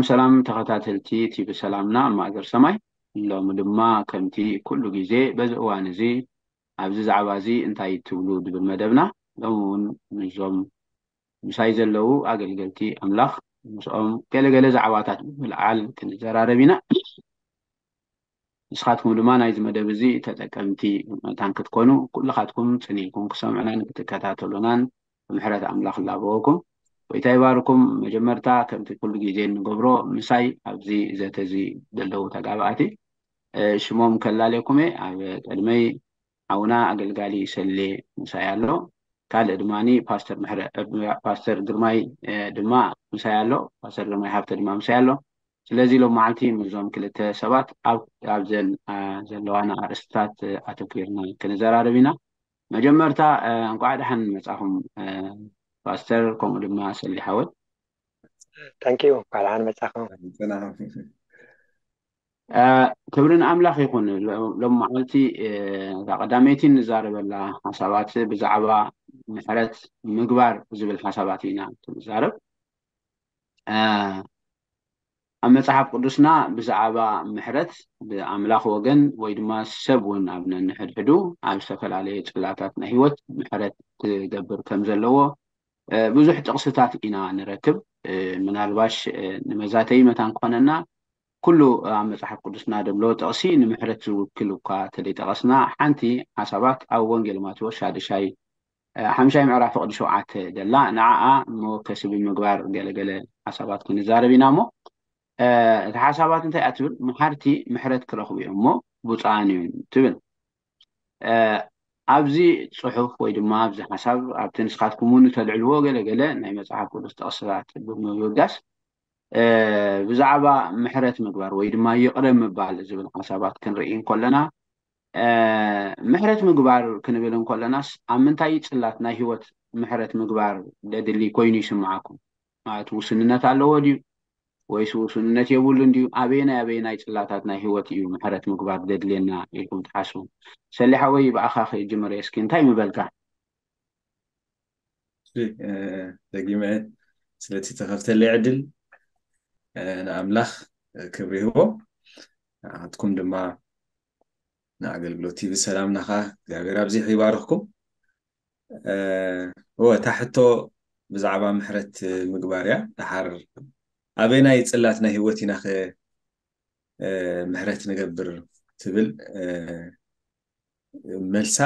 ሰላም ተኸታተልቲ ቲቪ ሰላምና ኣብ ማእገር ሰማይ፣ ሎሚ ድማ ከምቲ ኩሉ ግዜ በዚ እዋን እዚ ኣብዚ ዛዕባ እዚ እንታይ ትብሉ ዝብል መደብና ሎሚ እውን ምስዞም ምሳይ ዘለዉ ኣገልገልቲ ኣምላኽ ምስኦም ገለገለ ዛዕባታት ብምልዓል ክንዘራረብ ኢና። ንስኻትኩም ድማ ናይዚ መደብ እዚ ተጠቀምቲ መታን ክትኮኑ ኩልኻትኩም ጽን ኢልኩም ክሰምዑናን ክትከታተሉናን ብምሕረት ኣምላኽ ላበወኩም። ጎይታ ይባርኩም። መጀመርታ ከምቲ ኩሉ ግዜ እንገብሮ ምሳይ ኣብዚ ዘተ እዚ ዘለዉ ተጋባእቲ ሽሞም ከላለየኩም እየ። ኣብ ቅድመይ ሓውና ኣገልጋሊ ሰሌ ምሳይ ኣሎ። ካልእ ድማ ፓስተር ምሕረ ፓስተር ግርማይ ድማ ምሳይ ኣሎ። ፓስተር ግርማይ ሃብተ ድማ ምሳይ ኣሎ። ስለዚ ሎም መዓልቲ ምስዞም ክልተ ሰባት ኣብዘን ዘለዋና ኣርእስትታት ኣተኪርና ክንዘራረብ ኢና። መጀመርታ እንቋዕ ደሓን መጻኹም ፓስተር፣ ከምኡ ድማ ሰሊ ሓወይ። ታንኪዩ። እንቋዕ ደሓን መጻኹም። ክብሪ ንኣምላኽ ይኹን። ሎም መዓልቲ እዛ ቀዳመይቲ ንዛረበላ ሓሳባት ብዛዕባ ምሕረት ምግባር ዝብል ሓሳባት ኢና ክንዛረብ። ኣብ መጽሓፍ ቅዱስና ብዛዕባ ምሕረት ብኣምላኽ ወገን ወይ ድማ ሰብ እውን ኣብ ነንሕድሕዱ ኣብ ዝተፈላለየ ጽላታት ናይ ህይወት ምሕረት ክገብር ከም ዘለዎ ብዙሕ ጥቕስታት ኢና ንረክብ። ምናልባሽ ንመዛተይ መታን ክኾነና ኩሉ ኣብ መጽሓፍ ቅዱስና ደሎ ጥቕሲ ንምሕረት ዝውክል እኳ ተደይጠቐስና ሓንቲ ሓሳባት ኣብ ወንጌል ማቴዎስ ሻድሻይ ሓምሻይ ምዕራፍ ፍቕዲ ሸውዓተ ደላ ንዓኣ መወከሲ ብምግባር ገለገለ ሓሳባት ክንዛረብ ኢና እሞ እቲ ሓሳባት እንታይ እያ ትብል? መሓርቲ ምሕረት ክረኽቡ እዮም እሞ ብፁዓን እዮም ትብል። ኣብዚ ጽሑፍ ወይ ድማ ኣብዚ ሓሳብ ኣብቲ ንስኻትኩም እውን እተልዕልዎ ገለገለ ናይ መጽሓፍ ቅዱስ ጥቕስታት ብምብጋስ ብዛዕባ ምሕረት ምግባር ወይ ድማ ይቕረ ምባል ዝብል ሓሳባት ክንርኢ እንከለና ምሕረት ምግባር ክንብል እንከለናስ ኣብ ምንታይ ጽላት ናይ ህይወት ምሕረት ምግባር ደድሊ ኮይኑ ይስምዓኩም? ማለት ውስንነት ኣለዎ ድዩ ወይስ ውስንነት የብሉን ድዩ? ኣበየናይ ኣበየናይ ጽላታት ናይ ህይወት እዩ ምሕረት ምግባር ደድልየና ኢልኩም ትሓስቡ? ሰሊሓ ወይ ብኣኻ ክጅምር እስኪ እንታይ ምበልካ? ደጊመ ስለቲ ተኸፍተለይ ዕድል ንኣምላኽ ክብሪ ይህቦ። ንዓትኩም ድማ ንኣገልግሎት ቲቪ ሰላምናኻ እግዚኣብሔር ኣብዚሑ ይባርኽኩም። እወ እታ ሕቶ ብዛዕባ ምሕረት ምግባር እያ። ደሓር ኣበናይ ጽላት ናይ ህይወት ኢናኸ ምሕረት ንገብር ትብል መልሳ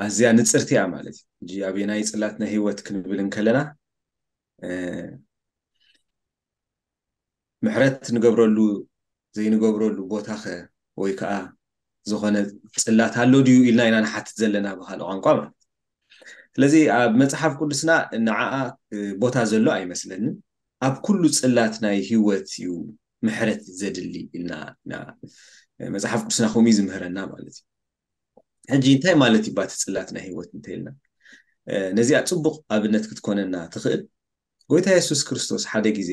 ኣዝያ ንጽርቲ እያ ማለት እዩ። ሕጂ ኣበናይ ጽላት ናይ ህይወት ክንብል እንከለና ምሕረት ንገብረሉ ዘይንገብረሉ ቦታኸ ወይ ከዓ ዝኾነ ጽላት ኣሎ ድዩ ኢልና ኢና ንሓትት ዘለና ብካልእ ቋንቋ ማለት። ስለዚ ኣብ መጽሓፍ ቅዱስና ንዓኣ ቦታ ዘሎ ኣይመስለንን። ኣብ ኩሉ ጽላት ናይ ህይወት እዩ ምሕረት ዘድሊ ኢልና ኢና መጽሓፍ ቅዱስና ከምኡ እዩ ዝምህረና ማለት እዩ። ሕጂ እንታይ ማለት እዩ ባቲ ጽላት ናይ ህይወት እንተኢልና ነዚኣ ጽቡቕ ኣብነት ክትኮነና ትኽእል። ጎይታ የሱስ ክርስቶስ ሓደ ግዜ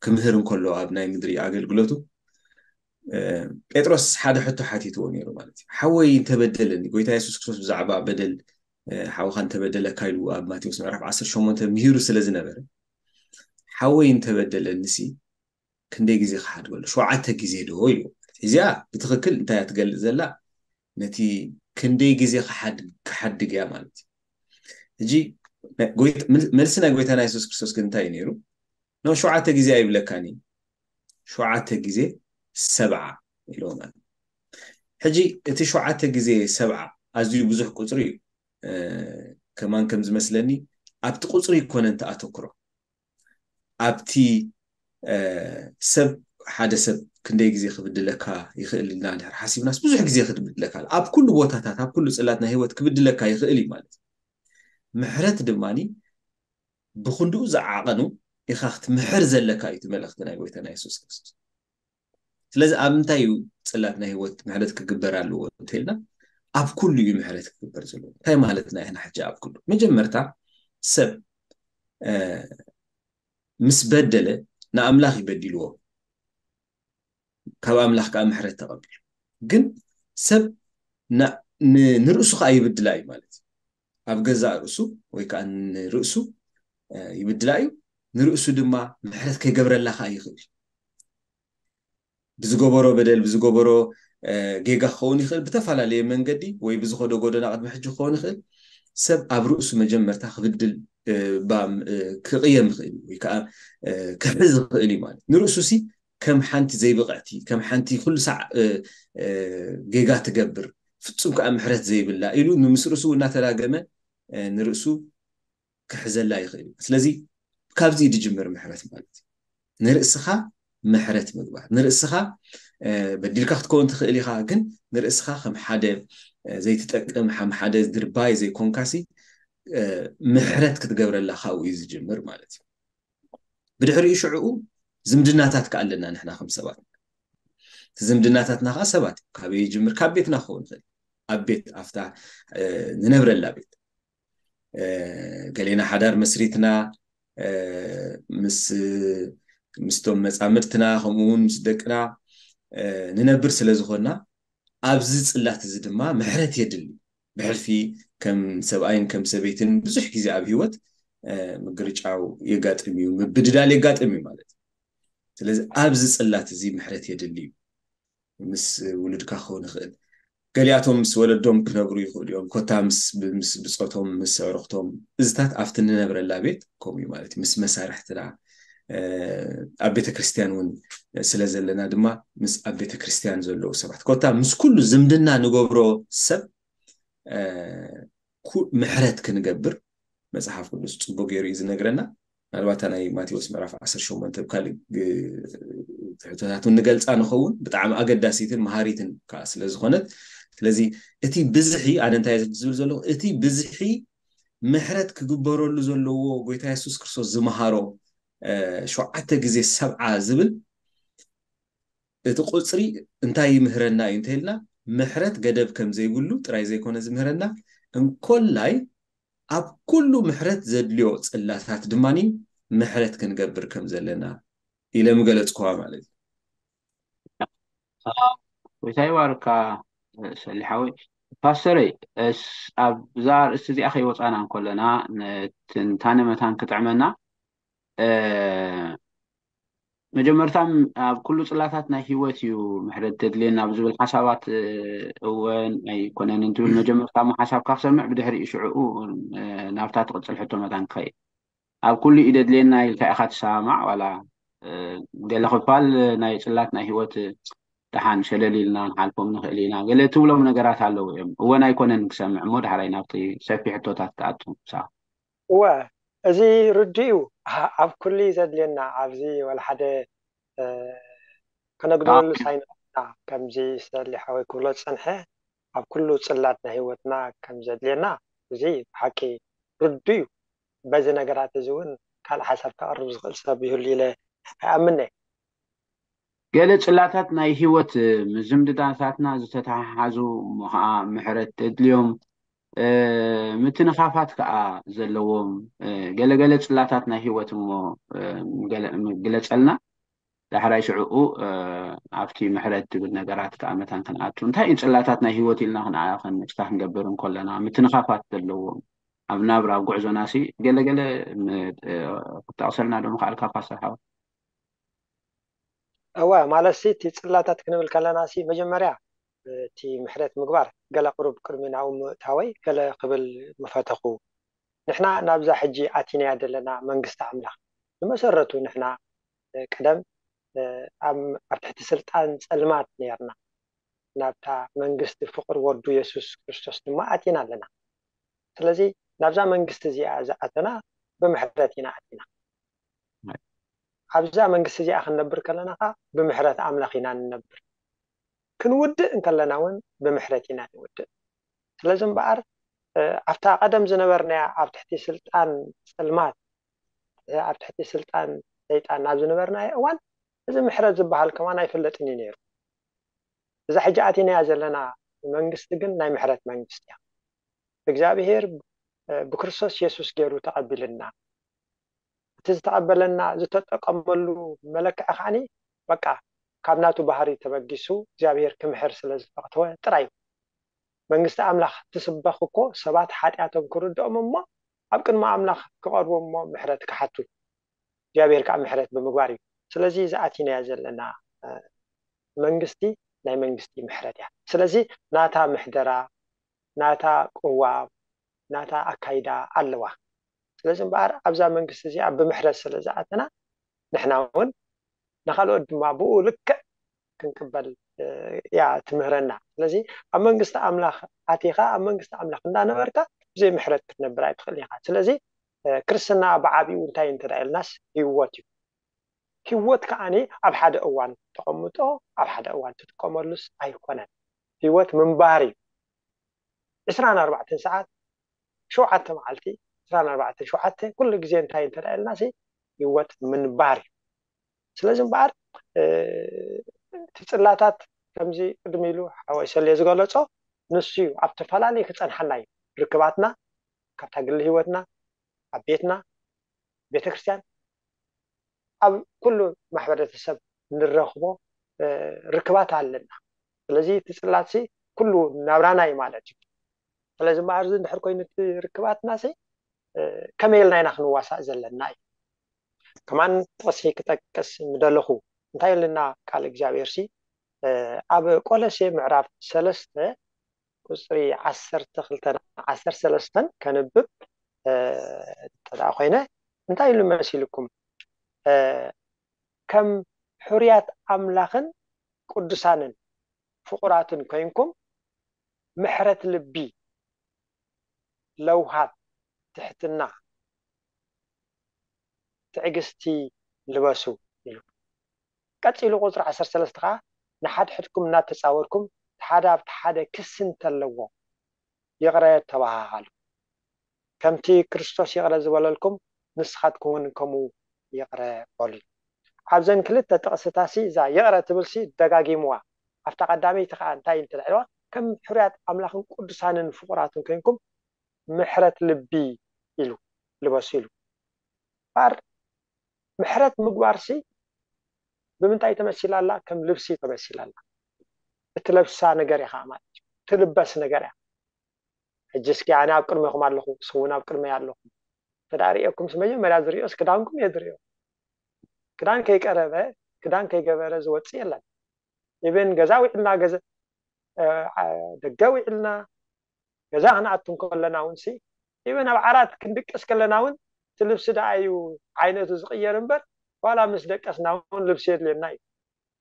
ክምህር እንከሎ ኣብ ናይ ምድሪ ኣገልግሎቱ ጴጥሮስ ሓደ ሕቶ ሓቲትዎ ነይሩ ማለት እዩ። ሓወይ እንተበደለኒ፣ ጎይታ የሱስ ክርስቶስ ብዛዕባ በደል ሓውኻ እንተበደለካ ኢሉ ኣብ ማቴዎስ ምዕራፍ ዓሰርተ ሸሞንተ ምሂሩ ስለ ዝነበረ ሓወይ እንተበደለኒ ሲ ክንደይ ግዜ ክሓድገሉ? ሸውዓተ ግዜ ዶ ኢሉ። እዚኣ ብትኽክል እንታይ እያ ትገልጽ ዘላ? ነቲ ክንደይ ግዜ ክሓድግ እያ ማለት እዩ። ሕጂ መልሲ ናይ ጎይታና የሱስ ክርስቶስ ግን እንታይ እዩ ነይሩ? ኖ ሸውዓተ ግዜ ኣይብለካን እዩ፣ ሸውዓተ ግዜ ሰብዓ ኢልዎ ማለት። ሕጂ እቲ ሸውዓተ ግዜ ሰብዓ ኣዝዩ ብዙሕ ቁፅሪ እዩ። ከማን ከም ዝመስለኒ ኣብቲ ቁፅሪ ይኮነ እንተ ኣተኩሮ ኣብቲ ሰብ ሓደ ሰብ ክንደይ ግዜ ክብድለካ ይኽእል ኢልና ድሕር ሓሲብናስ ብዙሕ ግዜ ክብድለካ ኣብ ኩሉ ቦታታት ኣብ ኩሉ ፅላት ናይ ህይወት ክብድለካ ይኽእል እዩ ማለት እዩ። ምሕረት ድማ ብክንድኡ ዝዓቐኑ ኢኻ ክትምሕር ዘለካ እዩ እቲ መልእኽቲ ናይ ጎይታና የሱስ ክርስቶስ። ስለዚ ኣብ ምንታይ እዩ ፅላት ናይ ህይወት ምሕረት ክግበር ኣለዎ እንተኢልና ኣብ ኩሉ እዩ ምሕረት ክግበር ዘለዎ። እንታይ ማለትና ኢና ሕጂ ኣብ ኩሉ? መጀመርታ ሰብ ምስ በደለ ንኣምላኽ እዩ በዲልዎ፣ ካብ ኣምላኽ ከዓ ምሕረት ተቐቢሉ። ግን ሰብ ንርእሱ ከዓ ይብድላ እዩ ማለት እዩ። ኣብ ገዛእ ርእሱ ወይ ከዓ ንርእሱ ይብድላ እዩ። ንርእሱ ድማ ምሕረት ከይገብረላ ከዓ ይኽእል። ብዝገበሮ በደል፣ ብዝገበሮ ጌጋ ክኸውን ይኽእል። ብተፈላለየ መንገዲ ወይ ብዝኸዶ ጎደና ቅድሚ ሕጂ ክኸውን ይኽእል። ሰብ ኣብ ርእሱ መጀመርታ ክብድል፣ ክቕየም ይኽእል ወይ ከዓ ክሕዝ ይኽእል እዩ። ማለት ንርእሱ ሲ ከም ሓንቲ ዘይብቕዕቲ፣ ከም ሓንቲ ኩሉ ሳዕ ጌጋ ትገብር፣ ፍጹም ከዓ ምሕረት ዘይብላ ኢሉ ንምስ ርእሱ እናተላገመ ንርእሱ ክሕዘላ ይኽእል እዩ። ስለዚ ካብዚ ድጅምር ምሕረት ማለት እዩ። ንርእስኻ ምሕረት ምግባር፣ ንርእስኻ በዲልካ ክትከውን ትኽእል ኢኻ፣ ግን ንርእስኻ ከም ሓደ ዘይትጠቅም፣ ከም ሓደ ድርባይ ዘይኮንካሲ ምሕረት ክትገብረላ ካብኡ እዩ ዝጅምር ማለት እዩ። ብድሕሪኡ ሽዕኡ ዝምድናታት ከኣለና ንሕና ከም ሰባት፣ ዝምድናታትና ከዓ ሰባት ካበይ ይጅምር? ካብ ቤትና ክኸውን ይኽእል። ኣብ ቤት፣ ኣብታ ንነብረላ ቤት ገሌና ሓዳር መስሪትና ምስ ምስቶም መፃምድትና ከምኡ እውን ምስ ደቅና ንነብር ስለ ዝኾንና ኣብዚ ፅላት እዚ ድማ ምሕረት የድሊ። ብሕልፊ ከም ሰብኣይን ከም ሰበይትን ብዙሕ ግዜ ኣብ ህይወት ምግርጫው የጋጥም እዩ፣ ምብድዳል የጋጥም እዩ ማለት እዩ። ስለዚ ኣብዚ ፅላት እዚ ምሕረት የድሊ እዩ። ምስ ውሉድካ ክኸውን ይኽእል። ገሊኣቶም ምስ ወለዶም ክነብሩ ይኽእሉ እዮም። ኮታ ምስ ብጾቶም፣ ምስ ኣዕሩኽቶም፣ እዚታት ኣብቲ ንነብረላ ቤት ከምኡ እዩ ማለት እዩ። ምስ መሳርሕትና ኣብ ቤተ ክርስቲያን እውን ስለ ዘለና ድማ ምስ ኣብ ቤተ ክርስቲያን ዘለዉ ሰባት፣ ኮታ ምስ ኩሉ ዝምድና ንገብሮ ሰብ ምሕረት ክንገብር መፅሓፍ ቅዱስ ፅቡቅ ገይሩ እዩ ዝነግረና። ምናልባት ናይ ማቴዎስ ምዕራፍ ዓሰርተ ሸሞንተ ብካሊእ ትሕቶታት ንገልፃ ንኸውን፣ ብጣዕሚ ኣገዳሲትን መሃሪትን ከዓ ስለ ዝኾነት፣ ስለዚ እቲ ብዝሒ፣ ኣነ እንታይ ዝብል ዘለኹ፣ እቲ ብዝሒ ምሕረት ክግበረሉ ዘለዎ ጎይታ የሱስ ክርስቶስ ዝመሃሮ ሸውዓተ ግዜ ሰብዓ ዝብል እቲ ቁፅሪ እንታይ ይምህረና እዩ እንተኢልና፣ ምሕረት ገደብ ከም ዘይብሉ ጥራይ ዘይኮነ ዝምህረና፣ እንኮላይ ኣብ ኩሉ ምሕረት ዘድልዮ ጽላታት ድማ ምሕረት ክንገብር ከም ዘለና ኢለ ምገለጽኩዋ ማለት እዩ። ጎይታ ይባርካ ሰሊሓዊ። ፓስተረይ፣ ኣብዛ ኣርእስቲ እዚኣ ከይወፃና እንከለና ትንታነ መታን ክጥዕመና፣ መጀመርታ ኣብ ኩሉ ጽላታት ናይ ህይወት እዩ ምሕረት ተድልየና ኣብ ዝብል ሓሳባት፣ እወን ኣይኮነን እንትብል መጀመርታ እሞ ሓሳብካ ክሰምዕ፣ ብድሕሪኡ ሽዕኡ ናብታ ትቕጽል ሕቶ መታን ክኸይድ። ኣብ ኩሉ እዩ ደድልየና ኢልካ ኢኻ ትሰማማዕ ዋላ ገለ ክፋል ናይ ጽላት ናይ ህይወት ደሓን ሸለል ኢልና ንሓልፎም ንኽእል ኢና ገለ ትብሎም ነገራት ኣለዉ እዮም። እወን ኣይኮነን ክሰምዕ እሞ ዳሕራይ ናብቲ ሰፊሕ ሕቶታት ትኣቱ ምሳኻ። እወ፣ እዚ ርዱእ እዩ። ኣብ ኩሉ እዩ ዘድልየና። ኣብዚ ወላ ሓደ ከነግድለሉ ሳይንና ከምዚ ሰሊ ሓወይ ክብሎ ዝጸንሐ ኣብ ኩሉ ጽላት ናይ ህይወትና ከም ዘድልየና እዚ ብሓቂ ርዱእ እዩ። በዚ ነገራት እዚ እውን ካልእ ሓሳብ ከቕርብ ዝኽእል ሰብ ይህሉ ኢለ ኣይኣምነ። ገለ ጽላታት ናይ ህይወት ዝምድናታትና ዝተተሓሓዙ እሞ ከዓ ምሕረት ተድልዮም ምትንኻፋት ከዓ ዘለዎም ገለገለ ጽላታት ናይ ህይወት እሞ ግለፀልና። ዳሕራይ ሽዕኡ ኣብቲ ምሕረት ትብል ነገራት ከዓ መታን ክንኣቱ እንታይ እዩ ጽላታት ናይ ህይወት ኢልና ክንዓ ክንምጭታ ክንገብር እንከለና ምትንኻፋት ዘለዎም ኣብ ናብራ ኣብ ጉዕዞና ሲ ገለገለ ክትጠቕሰልና ዶ ምኽኣልካ ፓስተር ሓወ? እወ ማለት ሲ እቲ ጽላታት ክንብል ከለና ሲ መጀመርያ እቲ ምሕረት ምግባር ገለ ቅሩብ ቅድሚ ናብኡ ምእታወይ ገለ ክብል ምፈተኹ። ንሕና ናብዛ ሕጂ ኣቲናያ ዘለና መንግስቲ ኣምላኽ ብመሰረቱ ንሕና ቀደም ኣብ ትሕቲ ስልጣን ጸልማት ነርና ናብታ መንግስቲ ፍቕር ወዱ የሱስ ክርስቶስ ድማ ኣቲና ኣለና። ስለዚ ናብዛ መንግስቲ እዚኣ ዝኣተና ብምሕረት ኢና ኣቲና። ኣብዛ መንግስቲ እዚኣ ክንነብር ከለና ኸዓ ብምሕረት ኣምላኽ ኢና ንነብር። ክንውድእ እንከለና እውን ብምሕረት ኢና ንውድእ። ስለዚ እምበኣር ኣብታ ቀደም ዝነበርናያ ኣብ ትሕቲ ስልጣን ጸልማት ኣብ ትሕቲ ስልጣን ሰይጣን ናብ ዝነበርናዮ እዋን እዚ ምሕረት ዝበሃል ከማን ኣይፍለጥን እዩ ነይሩ። እዛ ሕጂ ኣቲናያ ዘለና መንግስቲ ግን ናይ ምሕረት መንግስቲ እያ። እግዚኣብሄር ብክርስቶስ የሱስ ገይሩ ተቐቢልና። እቲ ዝተቐበለና ዝተጠቀመሉ መለክዒ ከዓኒ በቃ ካብ ናቱ ባህሪ ተበጊሱ እግዚኣብሄር ክምሕር ስለ ዝፈተወ ጥራይ እዩ። መንግስቲ ኣምላኽ ትስበኽ እኮ ሰባት ሓጢኣቶም ክርድኦም እሞ ኣብ ቅድሚ ኣምላኽ ክቐርቡ እሞ ምሕረት ክሓቱ እግዚኣብሔር ከዓ ምሕረት ብምግባር እዩ። ስለዚ ዝኣቲናያ ዘለና መንግስቲ ናይ መንግስቲ ምሕረት እያ። ስለዚ ናታ ምሕደራ፣ ናታ ቅዋም፣ ናታ ኣካይዳ ኣለዋ። ስለዚ እምበኣር ኣብዛ መንግስቲ እዚኣ ብምሕረት ስለ ዝኣተና ንሕና እውን ንካልኦት ድማ ብኡ ልክዕ ክንቅበል እያ ትምህረና። ስለዚ ኣብ መንግስቲ ኣምላኽ ኣቲኻ ኣብ መንግስቲ ኣምላኽ እንዳነበርካ ብዘይ ምሕረት ክትነብር ኣይትኽእልን ኢኻ። ስለዚ ክርስትና ብዓቢኡ እንታይ እንተ ኢልናስ ህይወት እዩ። ህይወት ከዓኒ ኣብ ሓደ እዋን ተቐምጦ ኣብ ሓደ እዋን ትጥቀመሉስ ኣይኮነን። ህይወት ምንባር እዩ። ዕስራን ኣርባዕተን ሰዓት ሸውዓተ መዓልቲ ዕስራን ኣርባዕተን ሸውዓተ ኩሉ ግዜ እንታይ እንተ ኢልናሲ ህይወት ምንባር እዩ። ስለዚ እምበኣር እቲ ፅላታት ከምዚ ቅድሚ ኢሉ ሓወይ ሰልየ ዝገለፆ ንሱ እዩ ኣብ ተፈላለዩ ክፀንሓና እዩ። ርክባትና ካብታ ግሊ ህይወትና ኣብ ቤትና ቤተክርስትያን ኣብ ኩሉ ማሕበረተሰብ ንረኽቦ ርክባት ኣለና። ስለዚ እቲ ፅላትሲ ኩሉ ናብራና እዩ ማለት እዩ። ስለዚ እምበኣር እዚ እንድሕር ኮይኑ እቲ ርክባትና ሲ ከመይ ኢልና ኢና ክንዋሳእ ዘለና እዩ። ከማን ጥቕሲ ክጠቅስ ምደለኹ እንታይ ኢልና ቃል እግዚኣብሔር ሲ ኣብ ቆለሴ ምዕራፍ ሰለስተ ቁፅሪ ዓሰርተ ክልተን ዓሰርተ ሰለስተን ከንብብ እንተ ኮይነ እንታይ ኢሉ መሲልኩም ከም ሕርያት ኣምላኽን ቅዱሳንን ፍቑራትን ኮይንኩም ምሕረት ልቢ ለውሃት ትሕትና ትዕግስቲ ልበሱ ኢሉ። ቀፂሉ ቁፅሪ ዓሰርተ ሰለስተ ከዓ ንሓድሕድኩም እናተፃወርኩም ሓደ ኣብቲ ሓደ ክሲ እንተለዎ ይቕረ ተባሃሃሉ። ከምቲ ክርስቶስ ይቕረ ዝበለልኩም ንስኻትኩም እውን ከምኡ ይቕረ በሉ። ኣብዘን ክልተ ጥቕስታሲ እዛ ይቕረ ትብልሲ ደጋጊምዋ። ኣብታ ቀዳመይቲ ከዓ እንታይ እንትልዕልዋ ከም ሕርያት ኣምላኽን ቅዱሳንን ፍቑራትን ኮይንኩም ምሕረት ልቢ ኢሉ ልበሱ ኢሉ። ባር ምሕረት ምግባርሲ ብምንታይ ተመሲላ ኣላ? ከም ልብሲ ተመሲላ ኣላ። እትለብሳ ነገር ኢኻ ማለት እዩ። ትልበስ ነገር እያ። ሕጂ እስኪ ኣነ ኣብ ቅድሜኹም ኣለኹ፣ ንስኹም እውን ኣብ ቅድመይ ኣለኹም። ተዳ ርእየኩምስ መጀመርያ ዝርእዮስ ክዳንኩም እየ ዝርእዮ። ክዳን ከይቀረበ ክዳን ከይገበረ ዝወፅእ የለን። ኢብን ገዛ ውዒልና ደገ ውዒልና ገዛ ክንኣቱ እንከለና እውን ሲ ኢብን ኣብ ዓራት ክንድቅስ ከለና እውን እቲ ልብሲ ደኣ እዩ ዓይነቱ ዝቕየር እምበር ዋላ ምስ ደቀስና እውን ልብሲ የድልየና እዩ።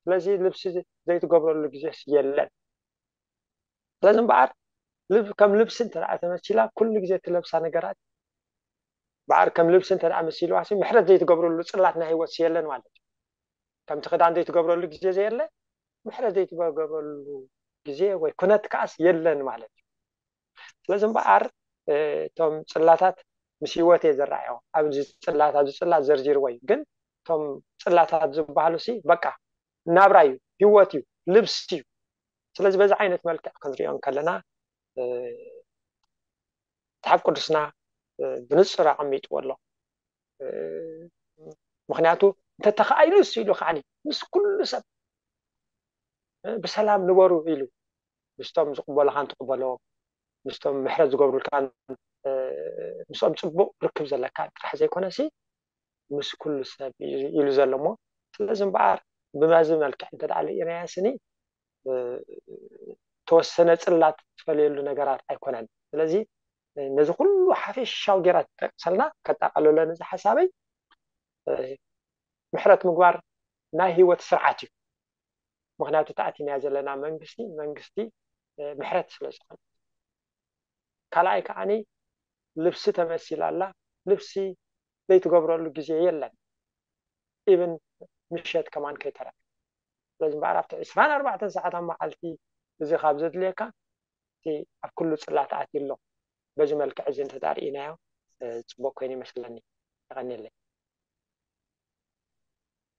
ስለዚ ልብሲ ዘይትገብረሉ ግዜስ የለን። ስለዚ እምበኣር ከም ልብሲ እንተ ተመሲላ ኩሉ ግዜ እትለብሳ ነገራት በኣር ከም ልብሲ እንተ መሲልዋ ምሕረት ዘይትገብረሉ ፅላት ናይ ህይወት የለን ማለት እዩ። ከምቲ ክዳን ዘይትገብረሉ ግዜ ዘየለ ምሕረት ዘይትገብረሉ ግዜ ወይ ኩነት ከዓስ የለን ማለት እዩ። ስለዚ እምበኣር እቶም ፅላታት ምስ ህይወት እየ ዝረኣዮ። ኣብዚ ፅላት ኣብዚ ፅላት ዘርዚርዎ እዩ። ግን እቶም ፅላታት ዝበሃሉ ሲ በቃ ናብራ እዩ፣ ህይወት እዩ፣ ልብሲ እዩ። ስለዚ በዚ ዓይነት መልክዕ ክንሪኦ እንከለና መፅሓፍ ቅዱስና ብንፁር ኣቐሚጥዎ ኣሎ። ምክንያቱ እንተተኻኢሉ እሱ ኢሉ ከዓኒ ምስ ኩሉ ሰብ ብሰላም ንበሩ ኢሉ ምስቶም ዝቕበሉኻን ትቕበሎም ምስቶም ምሕረት ዝገብሩልካን ምስኦም ፅቡቕ ርክብ ዘለካ ጥራሕ ዘይኮነሲ ምስ ኩሉ ሰብ ኢሉ ዘሎ እሞ ስለዚ እምበኣር ብመዚ መልክዕ እንተ ደኣ ርኢናያ ስኒ ተወሰነ ፅላት ትፈልየሉ ነገራት ኣይኮነን። ስለዚ ነዚ ኩሉ ሓፈሻዊ ጌራ ትጠቅሰልና ከጠቃለለን እዚ ሓሳበይ ምሕረት ምግባር ናይ ህይወት ስርዓት እዩ። ምክንያቱ ተኣቲናያ ዘለና መንግስቲ መንግስቲ ምሕረት ስለ ዝኾነ ካልኣይ ከዓኒ ልብሲ ተመሲላ ኣላ። ልብሲ ዘይትገብረሉ ግዜ የለን። ኢብን ምሸት ከማን ከይተረፈ ስለዚ እምበኣር ኣብቲ ዕስራን ኣርባዕተን ሰዓት ኣብ መዓልቲ እዚ ካብ ዘድልየካ እቲ ኣብ ኩሉ ፅላት ኣትዩ ኣሎ። በዚ መልክዕ እዚ እንተዳርእናዮ ፅቡቅ ኮይኑ ይመስለኒ። የቀኒለይ።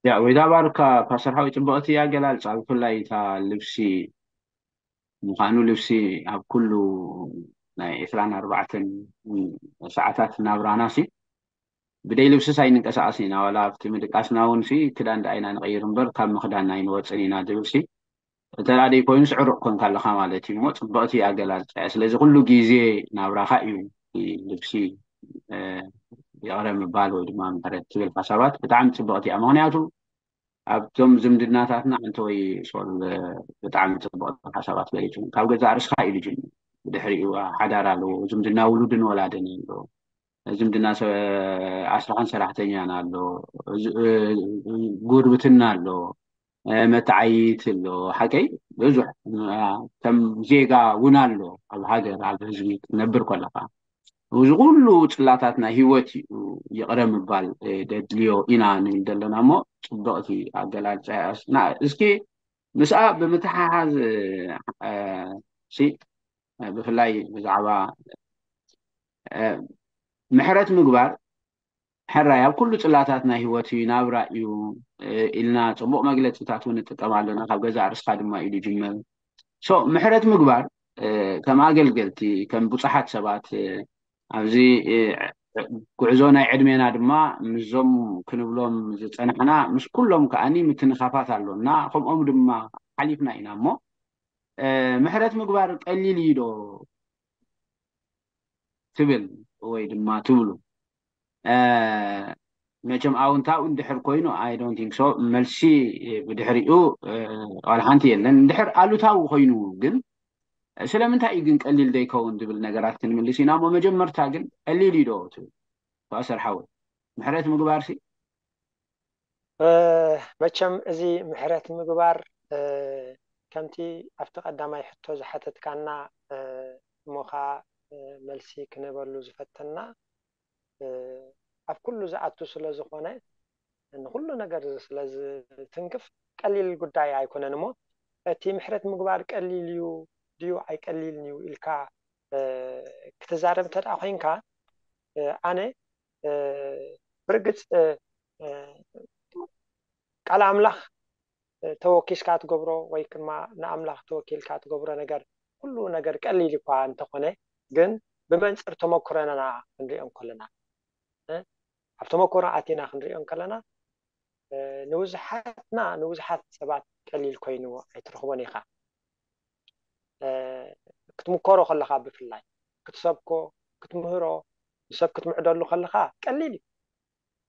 ያ ወይዳ ባርካ ፓስተር ሓዊ ፅቡቅቲ ኣገላልፃ ብፍላይ እታ ልብሲ ምዃኑ ልብሲ ኣብ ኩሉ ናይ ዕስራን ኣርባዕተን ሰዓታት ናብራና ሲ ብደይ ልብስስ ኣይንንቀሳቀስ ኢና ዋላ ኣብቲ ምድቃስና እውን ሲ ክዳን ደኣ ኢና ንቀይር እምበር ካብ ምክዳን ኣይንወፅን ኢና ዝብል ሲ እንተ ደኣ ደይ ኮይኑስ ዕሩቅ ኮንካ ኣለካ ማለት እዩ እሞ ፅብቅቲ ኣገላልፃ እያ ስለዚ ኩሉ ግዜ ናብራካ እዩ ልብሲ ይቕረ ምባል ወይ ድማ ምሕረት ትብል ሓሳባት ብጣዕሚ ፅብቕቲ እያ። ምክንያቱ ኣብቶም ዝምድናታትና ኣንተ ወይ ሶል ብጣዕሚ ፅብቕቲ ሓሳባት ገሊፁ። ካብ ገዛእ ርእስካ እዩ ዝጅምር። ብድሕሪኡ ሓዳር ኣለዎ፣ ዝምድና ውሉድን ወላድን ኣሎ፣ ዝምድና ኣስራሕን ሰራሕተኛን ኣሎ፣ ጉርብትና ኣሎ፣ መተዓይት ኣሎ። ሓቀይ ብዙሕ ከም ዜጋ እውን ኣሎ ኣብ ሃገር ኣብ ህዝቢ ክትነብር ከለካ። እዚ ኩሉ ፅላታት ናይ ህይወት እዩ ይቕረ ምባል ደድልዮ ኢና ንብል ዘለና እሞ ፅብቕቲ ኣገላልፃ እያ። እስኪ ምስኣ ብምትሓሓዝ ብፍላይ ብዛዕባ ምሕረት ምግባር ሕራይ ኣብ ኩሉ ፅላታት ናይ ህይወት እዩ ናብራ እዩ ኢልና ፅቡቕ መግለፂታት እውን ንጥቀም ኣለና። ካብ ገዛ ርስካ ድማ ኢሉ ይጅመር። ምሕረት ምግባር ከም ኣገልገልቲ ከም ብዙሓት ሰባት ኣብዚ ጉዕዞ ናይ ዕድሜና ድማ ምስዞም ክንብሎም ዝፀናሕና ምስ ኩሎም ከዓኒ ምትንኻፋት ኣሎ እና ከምኦም ድማ ሓሊፍና ኢና እሞ ምሕረት ምግባር ቀሊል እዩ ዶ ትብል ወይ ድማ ትብሉ? መቸም ኣውንታው እንድሕር ኮይኑ I don't think so። መልሲ ብድሕሪኡ ዋላ ሓንቲ የለን። እንድሕር ኣሉታዊ ኮይኑ ግን ስለምንታይ እዩ ግን ቀሊል ዘይከውን ዝብል ነገራት ክንምልስ ኢና እሞ መጀመርታ ግን ቀሊል እዩ ዶ ትብል? ፋእሰር ሓወይ ምሕረት ምግባር ሲ መቸም እዚ ምሕረት ምግባር ከምቲ ኣብቲ ቀዳማይ ሕቶ ዝሓተትካና እሞ ከዓ መልሲ ክንህበሉ ዝፈተና ኣብ ኩሉ ዝኣቱ ስለ ዝኾነ ንኩሉ ነገር ስለ ዝትንክፍ ቀሊል ጉዳይ ኣይኮነን እሞ እቲ ምሕረት ምግባር ቀሊል እዩ ድዩ ኣይቀሊልን እዩ ኢልካ ክትዛረብ እንተ ኮይንካ ኣነ ብርግፅ ቃል ኣምላኽ ተወኪስካ ትገብሮ ወይ ድማ ንኣምላኽ ተወኪልካ ትገብሮ ነገር ኩሉ ነገር ቀሊል እኳ እንተኾነ ግን ብመንፅር ተመክሮና ክንሪኦ እንከለና ኣብ ተመክሮ ኣቲና ክንሪኦ እንከለና ንብዙሓትና ንብዙሓት ሰባት ቀሊል ኮይኑ ኣይትረኽቦን ኢኻ ክትምከሮ ከለኻ ብፍላይ ክትሰብኮ ክትምህሮ ንሰብ ክትምዕደሉ ከለኻ ቀሊል እዩ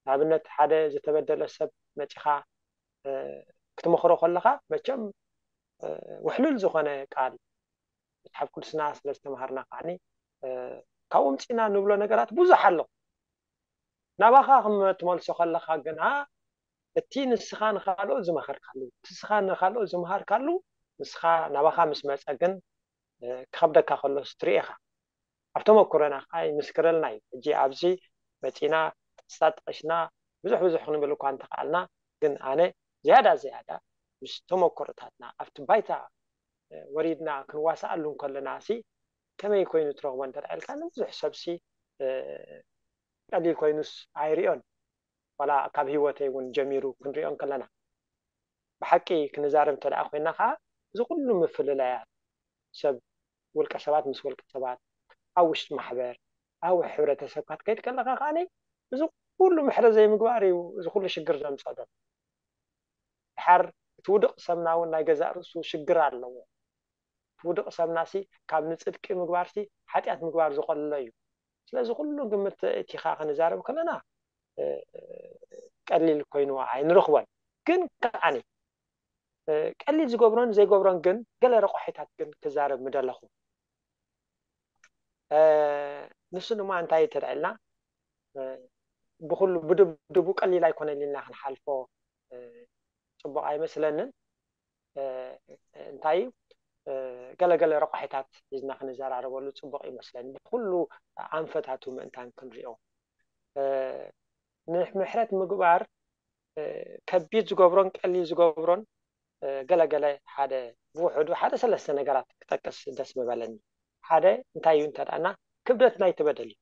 ንኣብነት ሓደ ዝተበደለ ሰብ መፂኻ ክትመኽሮ ከለኻ መቸም ውሕሉል ዝኾነ ቃል መፅሓፍ ቅዱስና ስለ ዝተምሃርና ከዓኒ ካብኡ ምፅና ንብሎ ነገራት ብዙሕ ኣሎ ናባኻ ክመትመልሶ ከለኻ ግና እቲ ንስኻ ንኻልኦት ዝመኸርካሉ እቲ ንስኻ ንኻልኦት ዝመሃርካሉ ንስኻ ናባኻ ምስ መፀ ግን ክኸብደካ ከሎስ ትርኢ ኢኻ ኣብ ተመክሮና ከዓ ይምስክረልና እዩ ሕጂ ኣብዚ መፂና ጥቕስታት ጠቒስና ብዙሕ ብዙሕ ክንብል እኳ እንተኽኣልና ግን ኣነ ዝያዳ ዝያዳ ምስ ተመክሮታትና ኣብቲ ባይታ ወሪድና ክንዋስኣሉ እንከለና ሲ ከመይ ኮይኑ ትረኽቦ እንተ ኢልካ ንብዙሕ ሰብሲ ቀሊል ኮይኑስ ኣይሪኦን ዋላ ካብ ህይወተይ እውን ጀሚሩ ክንሪኦ እንከለና ብሓቂ ክንዛረብ እንተ ኮይና ከዓ እዚ ኩሉ ምፍልላያት ሰብ ውልቀ ሰባት ምስ ውልቀ ሰባት ኣብ ውሽጢ ማሕበር ኣብ ሕብረተሰብ ክትከይድ ከለካ ከዓ እዚ ኩሉ ምሕረት ዘይምግባር እዩ እዚ ኩሉ ሽግር ዘምፀእ ዘሎ ድሓር እቲ ውድቕ ሰብና እውን ናይ ገዛእ ርእሱ ሽግር ኣለዎ እቲ ውድቕ ሰብናሲ ካብ ንፅድቂ ምግባርሲ ሓጢኣት ምግባር ዝቐልሎ እዩ ስለዚ ኩሉ ግምት እቲኻ ክንዛረብ ከለና ቀሊል ኮይኑ ኣይንረኽቦን ግን ከዓኒ ቀሊል ዝገብሮን ዘይገብሮን ግን ገለ ረቋሒታት ግን ክዛረብ ምደለኹ ንሱ ድማ እንታይ ተልዕልና ብኩሉ ብድብድቡ ቀሊል ኣይኮነን ኢልና ክንሓልፎ ፅቡቅ ኣይመስለንን እንታይ ገለገለ ረቋሒታት ሒዝና ክንዘራረበሉ ፅቡቅ ይመስለኒ ብኩሉ ኣንፈታቱ ምእንታን ክንሪኦ ንምሕረት ምግባር ከቢድ ዝገብሮን ቀሊል ዝገብሮን ገለገለ ሓደ ብውሕዱ ሓደ ሰለስተ ነገራት ክጠቅስ ደስ ምበለኒ ሓደ እንታይ እዩ እንተዳና ክብደት ናይቲ በደል እዩ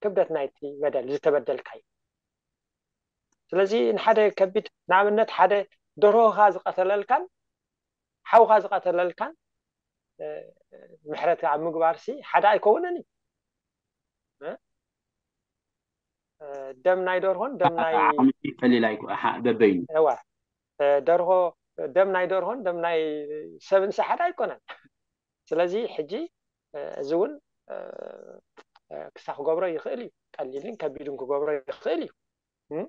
ክብደት ናይቲ በደል ዝተበደልካ እዩ ስለዚ ንሓደ ከቢድ ንኣብነት ሓደ ደርሆኻ ዝቀተለልካን ሓውኻ ዝቀተለልካን ምሕረት ኣብ ምግባር ሲ ሓደ ኣይከውንን እዩ ደም ናይ ደርሆን ደም ናይ በበይኑ ደርሆ ደም ናይ ደርሆን ደም ናይ ሰብን ሲ ሓደ ኣይኮነን ስለዚ ሕጂ እዚ እውን ክሳ ክገብሮ ይኽእል እዩ። ቀሊልን ከቢድን ክገብሮ ይኽእል እዩ። እም?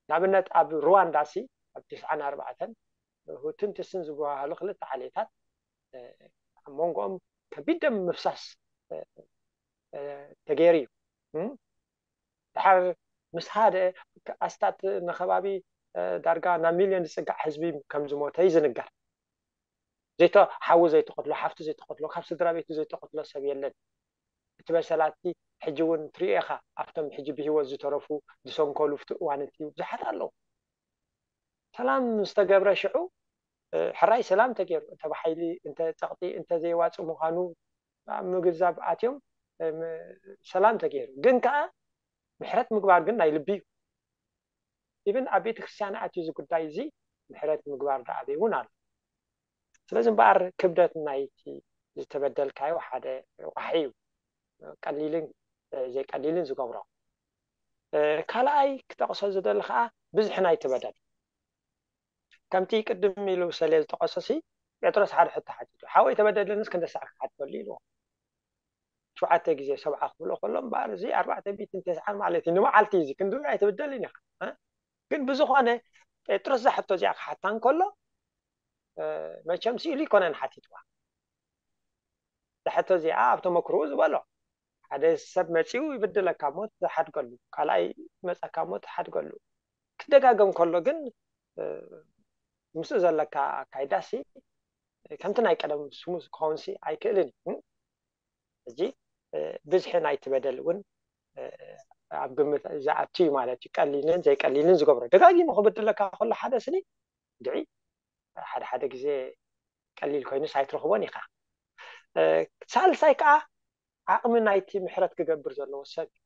ንኣብነት ኣብ ሩዋንዳ ሲ ኣብ ትስዓን ኣርባዕተን ሁትን ትስን ዝበሃሉ ክልተ ዓሌታት ኣብ መንጎኦም ከቢድ ደም ምፍሳስ ተገይሩ እዩ። ድሓር ምስ ሓደ ኣስታት ንከባቢ ዳርጋ ናብ ሚልዮን ዝፅጋዕ ህዝቢ ከም ዝሞተ እዩ ዝንገር። ዘይተ ሓዊ ዘይተቐትሎ፣ ሓፍቲ ዘይተቐትሎ፣ ካብ ስድራ ቤቱ ዘይተቐትሎ ሰብ የለን። እቲ በሰላቲ ሕጂ እውን ትሪኦ ኢኻ፣ ኣብቶም ሕጂ ብህይወት ዝተረፉ ዝሰንከሉ ፍቲ እዋን እቲ ብዙሓት ኣለዉ። ሰላም ዝተገብረ ሽዑ ሕራይ ሰላም ተገይሩ፣ እንተ ብሓይሊ እንተ ፀቕጢ እንተ ዘይዋፅእ ምዃኑ ኣብ ምግንዛብ ኣትዮም ሰላም ተገይሩ። ግን ከዓ ምሕረት ምግባር ግን ናይ ልቢ እዩ። ኢብን ኣብ ቤተ ክርስቲያን ኣትዩ እዚ ጉዳይ እዚ ምሕረት ምግባር ዶ ኣበይ እውን ኣሎ። ስለዚ እምበኣር ክብደት ናይቲ ዝተበደልካዮ ሓደ ረቋሒ እዩ፣ ቀሊልን ዘይቀሊልን ዝገብሮ። ካልኣይ ክጠቕሶ ዝደሊ ከዓ ብዝሒ ናይቲ በደል። ከምቲ ቅድም ኢሉ ሰሌ ዝጠቐሶ ሲ ጴጥሮስ ሓደ ሕቶ ሓቲቱ፣ ሓወይ ተበደለንስ ክንደ ሳዕ ክሓትበሉ ኢልዎ። ሸውዓተ ግዜ ሰብዓ ክብሎ ከሎ እምበኣር እዚ ኣርባዕተ ሚእትን ተስዓን ማለት እዩ። ንመዓልቲ እዚ ክንድኡ ኣይትብደልን ኢኻ። ግን ብዝኾነ ጴጥሮስ እዛ ሕቶ እዚኣ ክሓታ እንከሎ መቸም ስኢሉ ይኮነን ሓቲትዋ። እዛ ሕቶ እዚኣ ኣብ ተመክርኡ ዝበሎ ሓደ ሰብ መፂኡ ይብድለካ እሞ ትሓድገሉ፣ ካልኣይ መፀካ እሞ ትሓድገሉ። ክደጋገም ከሎ ግን ምስኡ ዘለካ ኣካይዳሲ ከምቲ ናይ ቀደም ስሙዝ ክኸውን ሲ ኣይክእልን እዩ። ሕጂ ብዝሒ ናይቲ በደል እውን ኣብ ግምት ዝኣቱ እዩ ማለት እዩ። ቀሊልን ዘይቀሊልን ዝገብሮ ደጋጊሙ ክብድለካ ከሎ ሓደ ስኒ ድዒ ሓደ ሓደ ግዜ ቀሊል ኮይኑስ ኣይትረኽቦን ኢኻ። ሳልሳይ ከዓ ዓቕሚ ናይቲ ምሕረት ክገብር ዘለዎ ሰብ እዩ።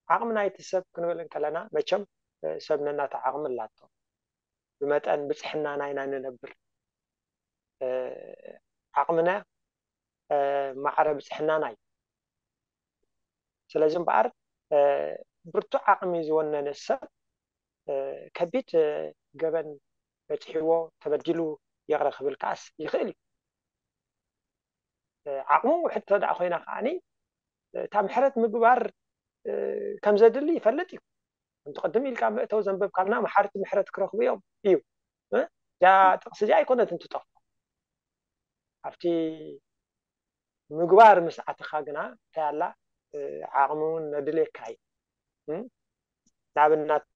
ዓቕሚ ናይቲ ሰብ ክንብል እንከለና መቸም ሰብ ነናተ ዓቕሚ ኣላቶ። ብመጠን ብፅሕናና ኢና ንነብር። ዓቕምና ማዕረ ብፅሕናና እዩ። ስለዚ እምበኣር ብርቱዕ ዓቕሚ ዝወነነ ሰብ ከቢድ ገበን በፂሕዎ ተበዲሉ ይቕረ ክብል ከዓስ ይኽእል እዩ። ዓቕሙ ውሕድ ተደኣ ኮይና ከዓኒ እታ ምሕረት ምግባር ከም ዘድሊ ይፈልጥ እዩ። ከምቲ ቅድም ኢልካ መእተው ዘንበብካልና መሓርቲ ምሕረት ክረኽቡ እዮም እዩ። እዚኣ ጥቕሲ እዚኣ ኣይኮነትን ትጠፍኦ። ኣብቲ ምግባር ምስ ኣተኻ ግና እንታይ ኣላ ዓቕሚ እውን ነድልየካ እዩ። ንኣብነት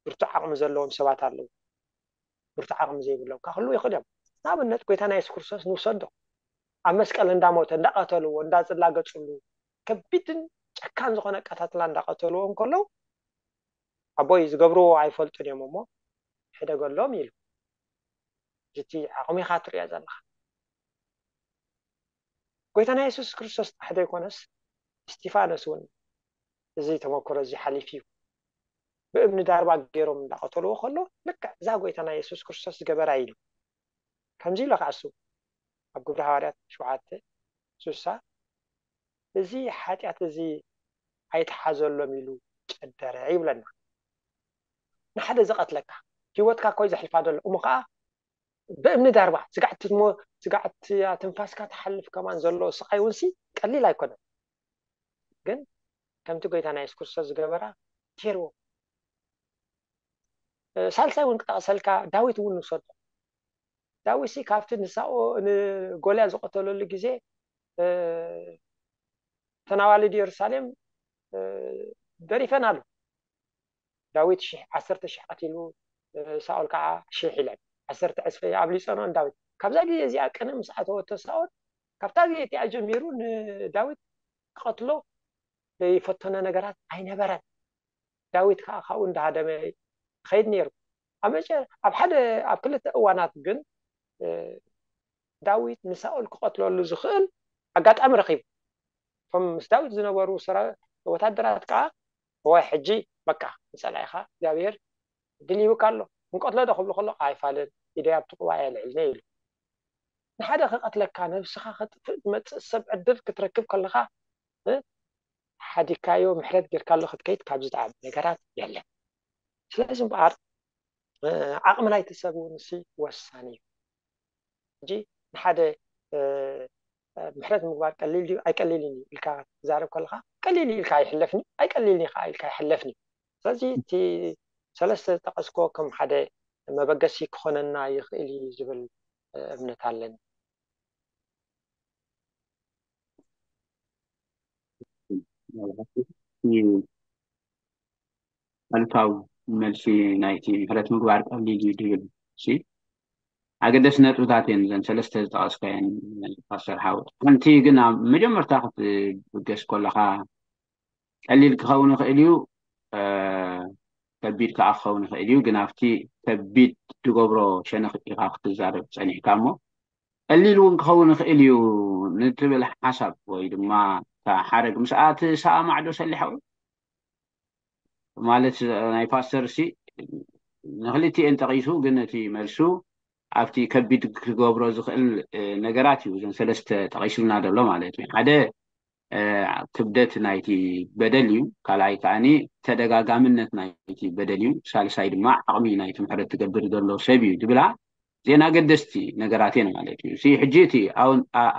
ብርቱዕ ዓቕሚ ዘለዎም ሰባት ኣለዉ። ብርቱዕ ዓቕሚ ዘይብሎም ክህልዉ ይኽእሉ እዮም። ንኣብነት ጎይታና የሱስ ክርስቶስ ንውሰዶ። ኣብ መስቀል እንዳሞተ እንዳቐተልዎ እንዳዝላገፅሉ ከቢድን ጨካን ዝኾነ ኣቀታትላ እንዳቐተልዎ እንከለዉ ኣቦይ ዝገብርዎ ኣይፈልጡን እዮም እሞ ሕደገሎም ኢሉ። እቲ ዓቕሚ ኢኻ ትሪኦ ዘለኻ። ጎይታና የሱስ ክርስቶስ ጥራሕ ዘይኮነስ እስጢፋኖስ እውን እዚ ተመክሮ እዚ ሓሊፉ እዩ። ብእምኒ ዳርባ ገይሮም እንዳቐተልዎ ከሎ ልክዕ እዛ ጎይታና የሱስ ክርስቶስ ዝገበራ ኢሉ ከምዚ ኢሉ ከዓ እሱ ኣብ ግብሪ ሃዋርያት ሸውዓተ ስሳ እዚ ሓጢኣት እዚ ኣይተሓዘሎም ኢሉ ጨደረ ይብለና። ንሓደ ዝቐትለካ ህይወትካ ኮይ ዘሕልፋ ዘሎ እሞ ከዓ ብእምኒ ዳርባ ስጋዕቲ ስጋዕቲ ትንፋስካ ትሓልፍ ከማን ዘሎ ስቃይ እውን ሲ ቀሊል ኣይኮነን። ግን ከምቲ ጎይታ ናይ የሱስ ክርስቶስ ዝገበራ ገይርዎ። ሳልሳይ እውን ክጠቕሰልካ ዳዊት እውን ንውሰዶ። ዳዊት ሲ ካብቲ ንሳኦ ንጎልያድ ዝቐተለሉ ግዜ ተናዋልድ ኢየሩሳሌም ደሪፈን ኣሎ። ዳዊት ሽሕ ዓሰርተ ሽሕ ቀቲሉ ሳኦል ከዓ ሽሕ ኢለን ዓሰርተ ዕፅፊ ኣብሊፀኖ ንዳዊት። ካብዛ ግዜ እዚኣ ቅነ ምስ ኣተወቶ ሳኦል ካብታ ግዜ እቲኣ ጀሚሩ ንዳዊት ክቐትሎ ዘይፈተኖ ነገራት ኣይነበረን። ዳዊት ከዓ ካብኡ እንዳሃደመ ይኸይድ ነይሩ። ኣብ መጨ ኣብ ሓደ ኣብ ክልተ እዋናት ግን ዳዊት ንሳኦል ክቐትለሉ ዝኽእል ኣጋጣሚ ረኺቡ። እቶም ምስ ዳዊት ዝነበሩ ወታደራት ከዓ እዋይ ሕጂ በቃ ንፀላኢኻ እግዚኣብሔር ድል ይህብካ ኣሎ፣ ክንቀትሎ ዶ ክብሉ ከሎ ኣይፋልን፣ ኢደይ ኣብቲ ቅዋእ የልዕልነ ኢሉ። ንሓደ ክቐትለካ ነብስኻ ከጥፍእ ዝመፅእ ሰብ ዕድል ክትረክብ ከለኻ ሓዲካዮ ምሕረት ጌርካሉ ክትከይድ ካብ ዝጠዓም ነገራት የለን። ስለዚ እምበኣር ዓቕሚ ናይቲ ሰብ እውን ሲ ወሳኒ እዩ። ሕጂ ንሓደ ምሕረት ምግባር ቀሊል ድዩ ኣይቀሊልን እዩ ኢልካ ክትዛረብ ከለካ፣ ቀሊል እዩ ኢልካ ኣይሕለፍን እዩ፣ ኣይቀሊልን እዩ ከዓ ኢልካ ኣይሕለፍን እዩ። ስለዚ እቲ ሰለስተ ዝጠቀስኮ ከም ሓደ መበገሲ ክኾነና ይኽእል እዩ ዝብል እምነት ኣለኒ። ኣሉታዊ መልሲ ናይቲ ምሕረት ምግባር ቀሊል እዩ ድብል ሲ ኣገደስ ነጥብታት እየን እዘን ሰለስተ ዝጠቀስካየን ፓስተር ሓወት። ሓንቲ ግን ኣብ መጀመርታ ክትብገስ ከለካ ቀሊል ክኸውን ይኽእል እዩ፣ ከቢድ ከዓ ክኸውን ይኽእል እዩ። ግን ኣብቲ ከቢድ ትገብሮ ሸነኽ ኢኻ ክትዛረብ ጸኒሕካ እሞ ቀሊል እውን ክኸውን ይኽእል እዩ ንትብል ሓሳብ ወይ ድማ ሓረግ ምስ ኣቲ ሰኣማዕዶ ሰሊሓዊ ማለት ናይ ፓስተር ሲ ንክልቲኤን ጠቂሱ ግን እቲ መልሱ ኣብቲ ከቢድ ክገብሮ ዝኽእል ነገራት እዩ እዘን ሰለስተ ጠቂሱልና ዘሎ ማለት እዩ። ሓደ ክብደት ናይቲ በደል እዩ። ካልኣይ ከዓኒ ተደጋጋምነት ናይቲ በደል እዩ። ሳልሳይ ድማ ዓቕሚ ናይቲ ምሕረት ትገብር ዘሎ ሰብ እዩ ዝብላ ዜና ገደስቲ ነገራት እየን ማለት እዩ። ሕጂ እቲ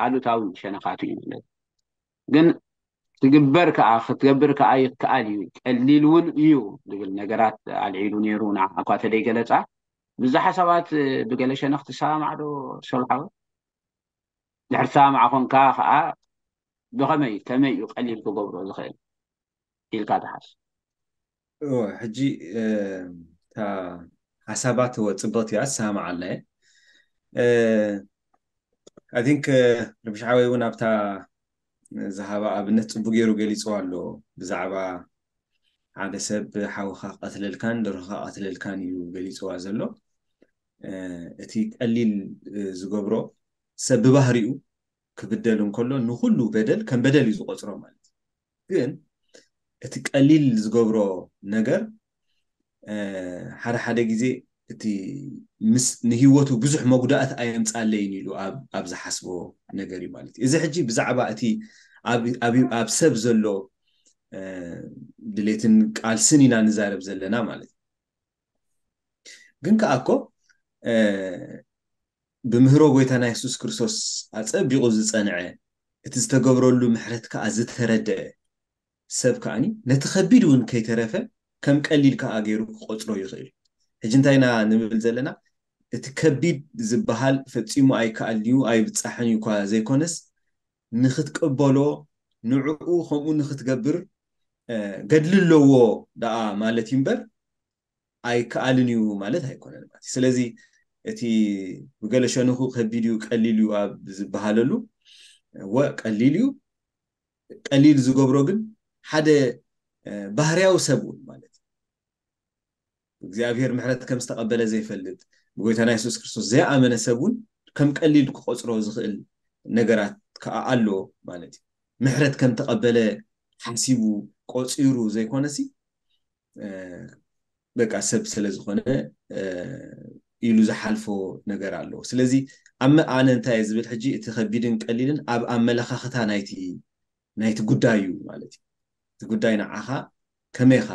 ኣሉታዊ ሸነኻቱ እዩ ማለት ግን ትግበር ከዓ ክትገብር ከዓ ይከኣል እዩ ቀሊል እውን እዩ ዝብል ነገራት ኣልዒሉ ነይሩ። ንዓ እኳ ተደይገለፃ ብዛ ሓሳባት ብገለ ሸነኽ ትሰማማዕዶ ሰብሓዊ? ድሕሪ ሰማማዕ ኮንካ ከዓ ብኸመይ ከመይ እዩ ቀሊል ክገብሮ ዝኽእል ኢልካ ትሓስብ? ሕጂ እታ ሓሳባት ወፅብቕቲ እያ ትሰማማዕ ኣለየ። I think ረብሻሓወይ እውን ኣብታ ዝሃባ ኣብነት ፅቡቅ ገይሩ ገሊፅዋ ኣሎ ብዛዕባ ሓደ ሰብ ሓውካ ቀትለልካን ደርሆካ ቀትለልካን እዩ ገሊፅዋ ዘሎ። እቲ ቀሊል ዝገብሮ ሰብ ብባህሪኡ ክብደል እንከሎ ንኩሉ በደል ከም በደል እዩ ዝቆፅሮ ማለት እዩ። ግን እቲ ቀሊል ዝገብሮ ነገር ሓደ ሓደ ግዜ እቲ ምስ ንህይወቱ ብዙሕ መጉዳእቲ ኣየምፃለይን ኢሉ ኣብ ዝሓስቦ ነገር እዩ ማለት እዩ። እዚ ሕጂ ብዛዕባ እቲ ኣብ ሰብ ዘሎ ድሌትን ቃልስን ኢና ንዛረብ ዘለና ማለት እዩ። ግን ከዓ እኮ ብምህሮ ጎይታና የሱስ ክርስቶስ ኣፀቢቑ ዝፀንዐ እቲ ዝተገብረሉ ምሕረት ከዓ ዝተረደአ ሰብ ከዓኒ ነቲ ከቢድ እውን ከይተረፈ ከም ቀሊል ከዓ ገይሩ ክቆፅሮ ይኽእል። ሕጂ እንታይ ኢና ንብል ዘለና? እቲ ከቢድ ዝበሃል ፈፂሙ ኣይከኣልን እዩ ኣይብፃሕን እዩ እኳ ዘይኮነስ ንክትቅበሎ ንዕኡ ከምኡ ንክትገብር ገድሊ ኣለዎ ደኣ ማለት እዩ እምበር ኣይከኣልን እዩ ማለት ኣይኮነን ማለት እዩ። ስለዚ እቲ ብገለ ሸንኹ ከቢድ እዩ ቀሊል እዩ ኣብ ዝበሃለሉ ወ ቀሊል እዩ ቀሊል ዝገብሮ ግን ሓደ ባህርያዊ ሰብ እውን ማለት እዩ እግዚኣብሔር ምሕረት ከም ዝተቐበለ ዘይፈልጥ ብጎይታና የሱስ ክርስቶስ ዘይኣመነ ሰብ እውን ከም ቀሊል ክቆፅሮ ዝኽእል ነገራት ከዓ ኣሎ ማለት እዩ። ምሕረት ከም ተቐበለ ሓሲቡ ቆፂሩ ዘይኮነሲ በቃ ሰብ ስለ ዝኾነ ኢሉ ዝሓልፎ ነገር ኣለዎ። ስለዚ ኣብ ኣነ እንታይ እየ ዝብል ሕጂ እቲ ከቢድን ቀሊልን ኣብ ኣመለኻኽታ ናይቲ ናይቲ ጉዳይ እዩ ማለት እዩ። እቲ ጉዳይ ንዓኻ ከመይ ኢኻ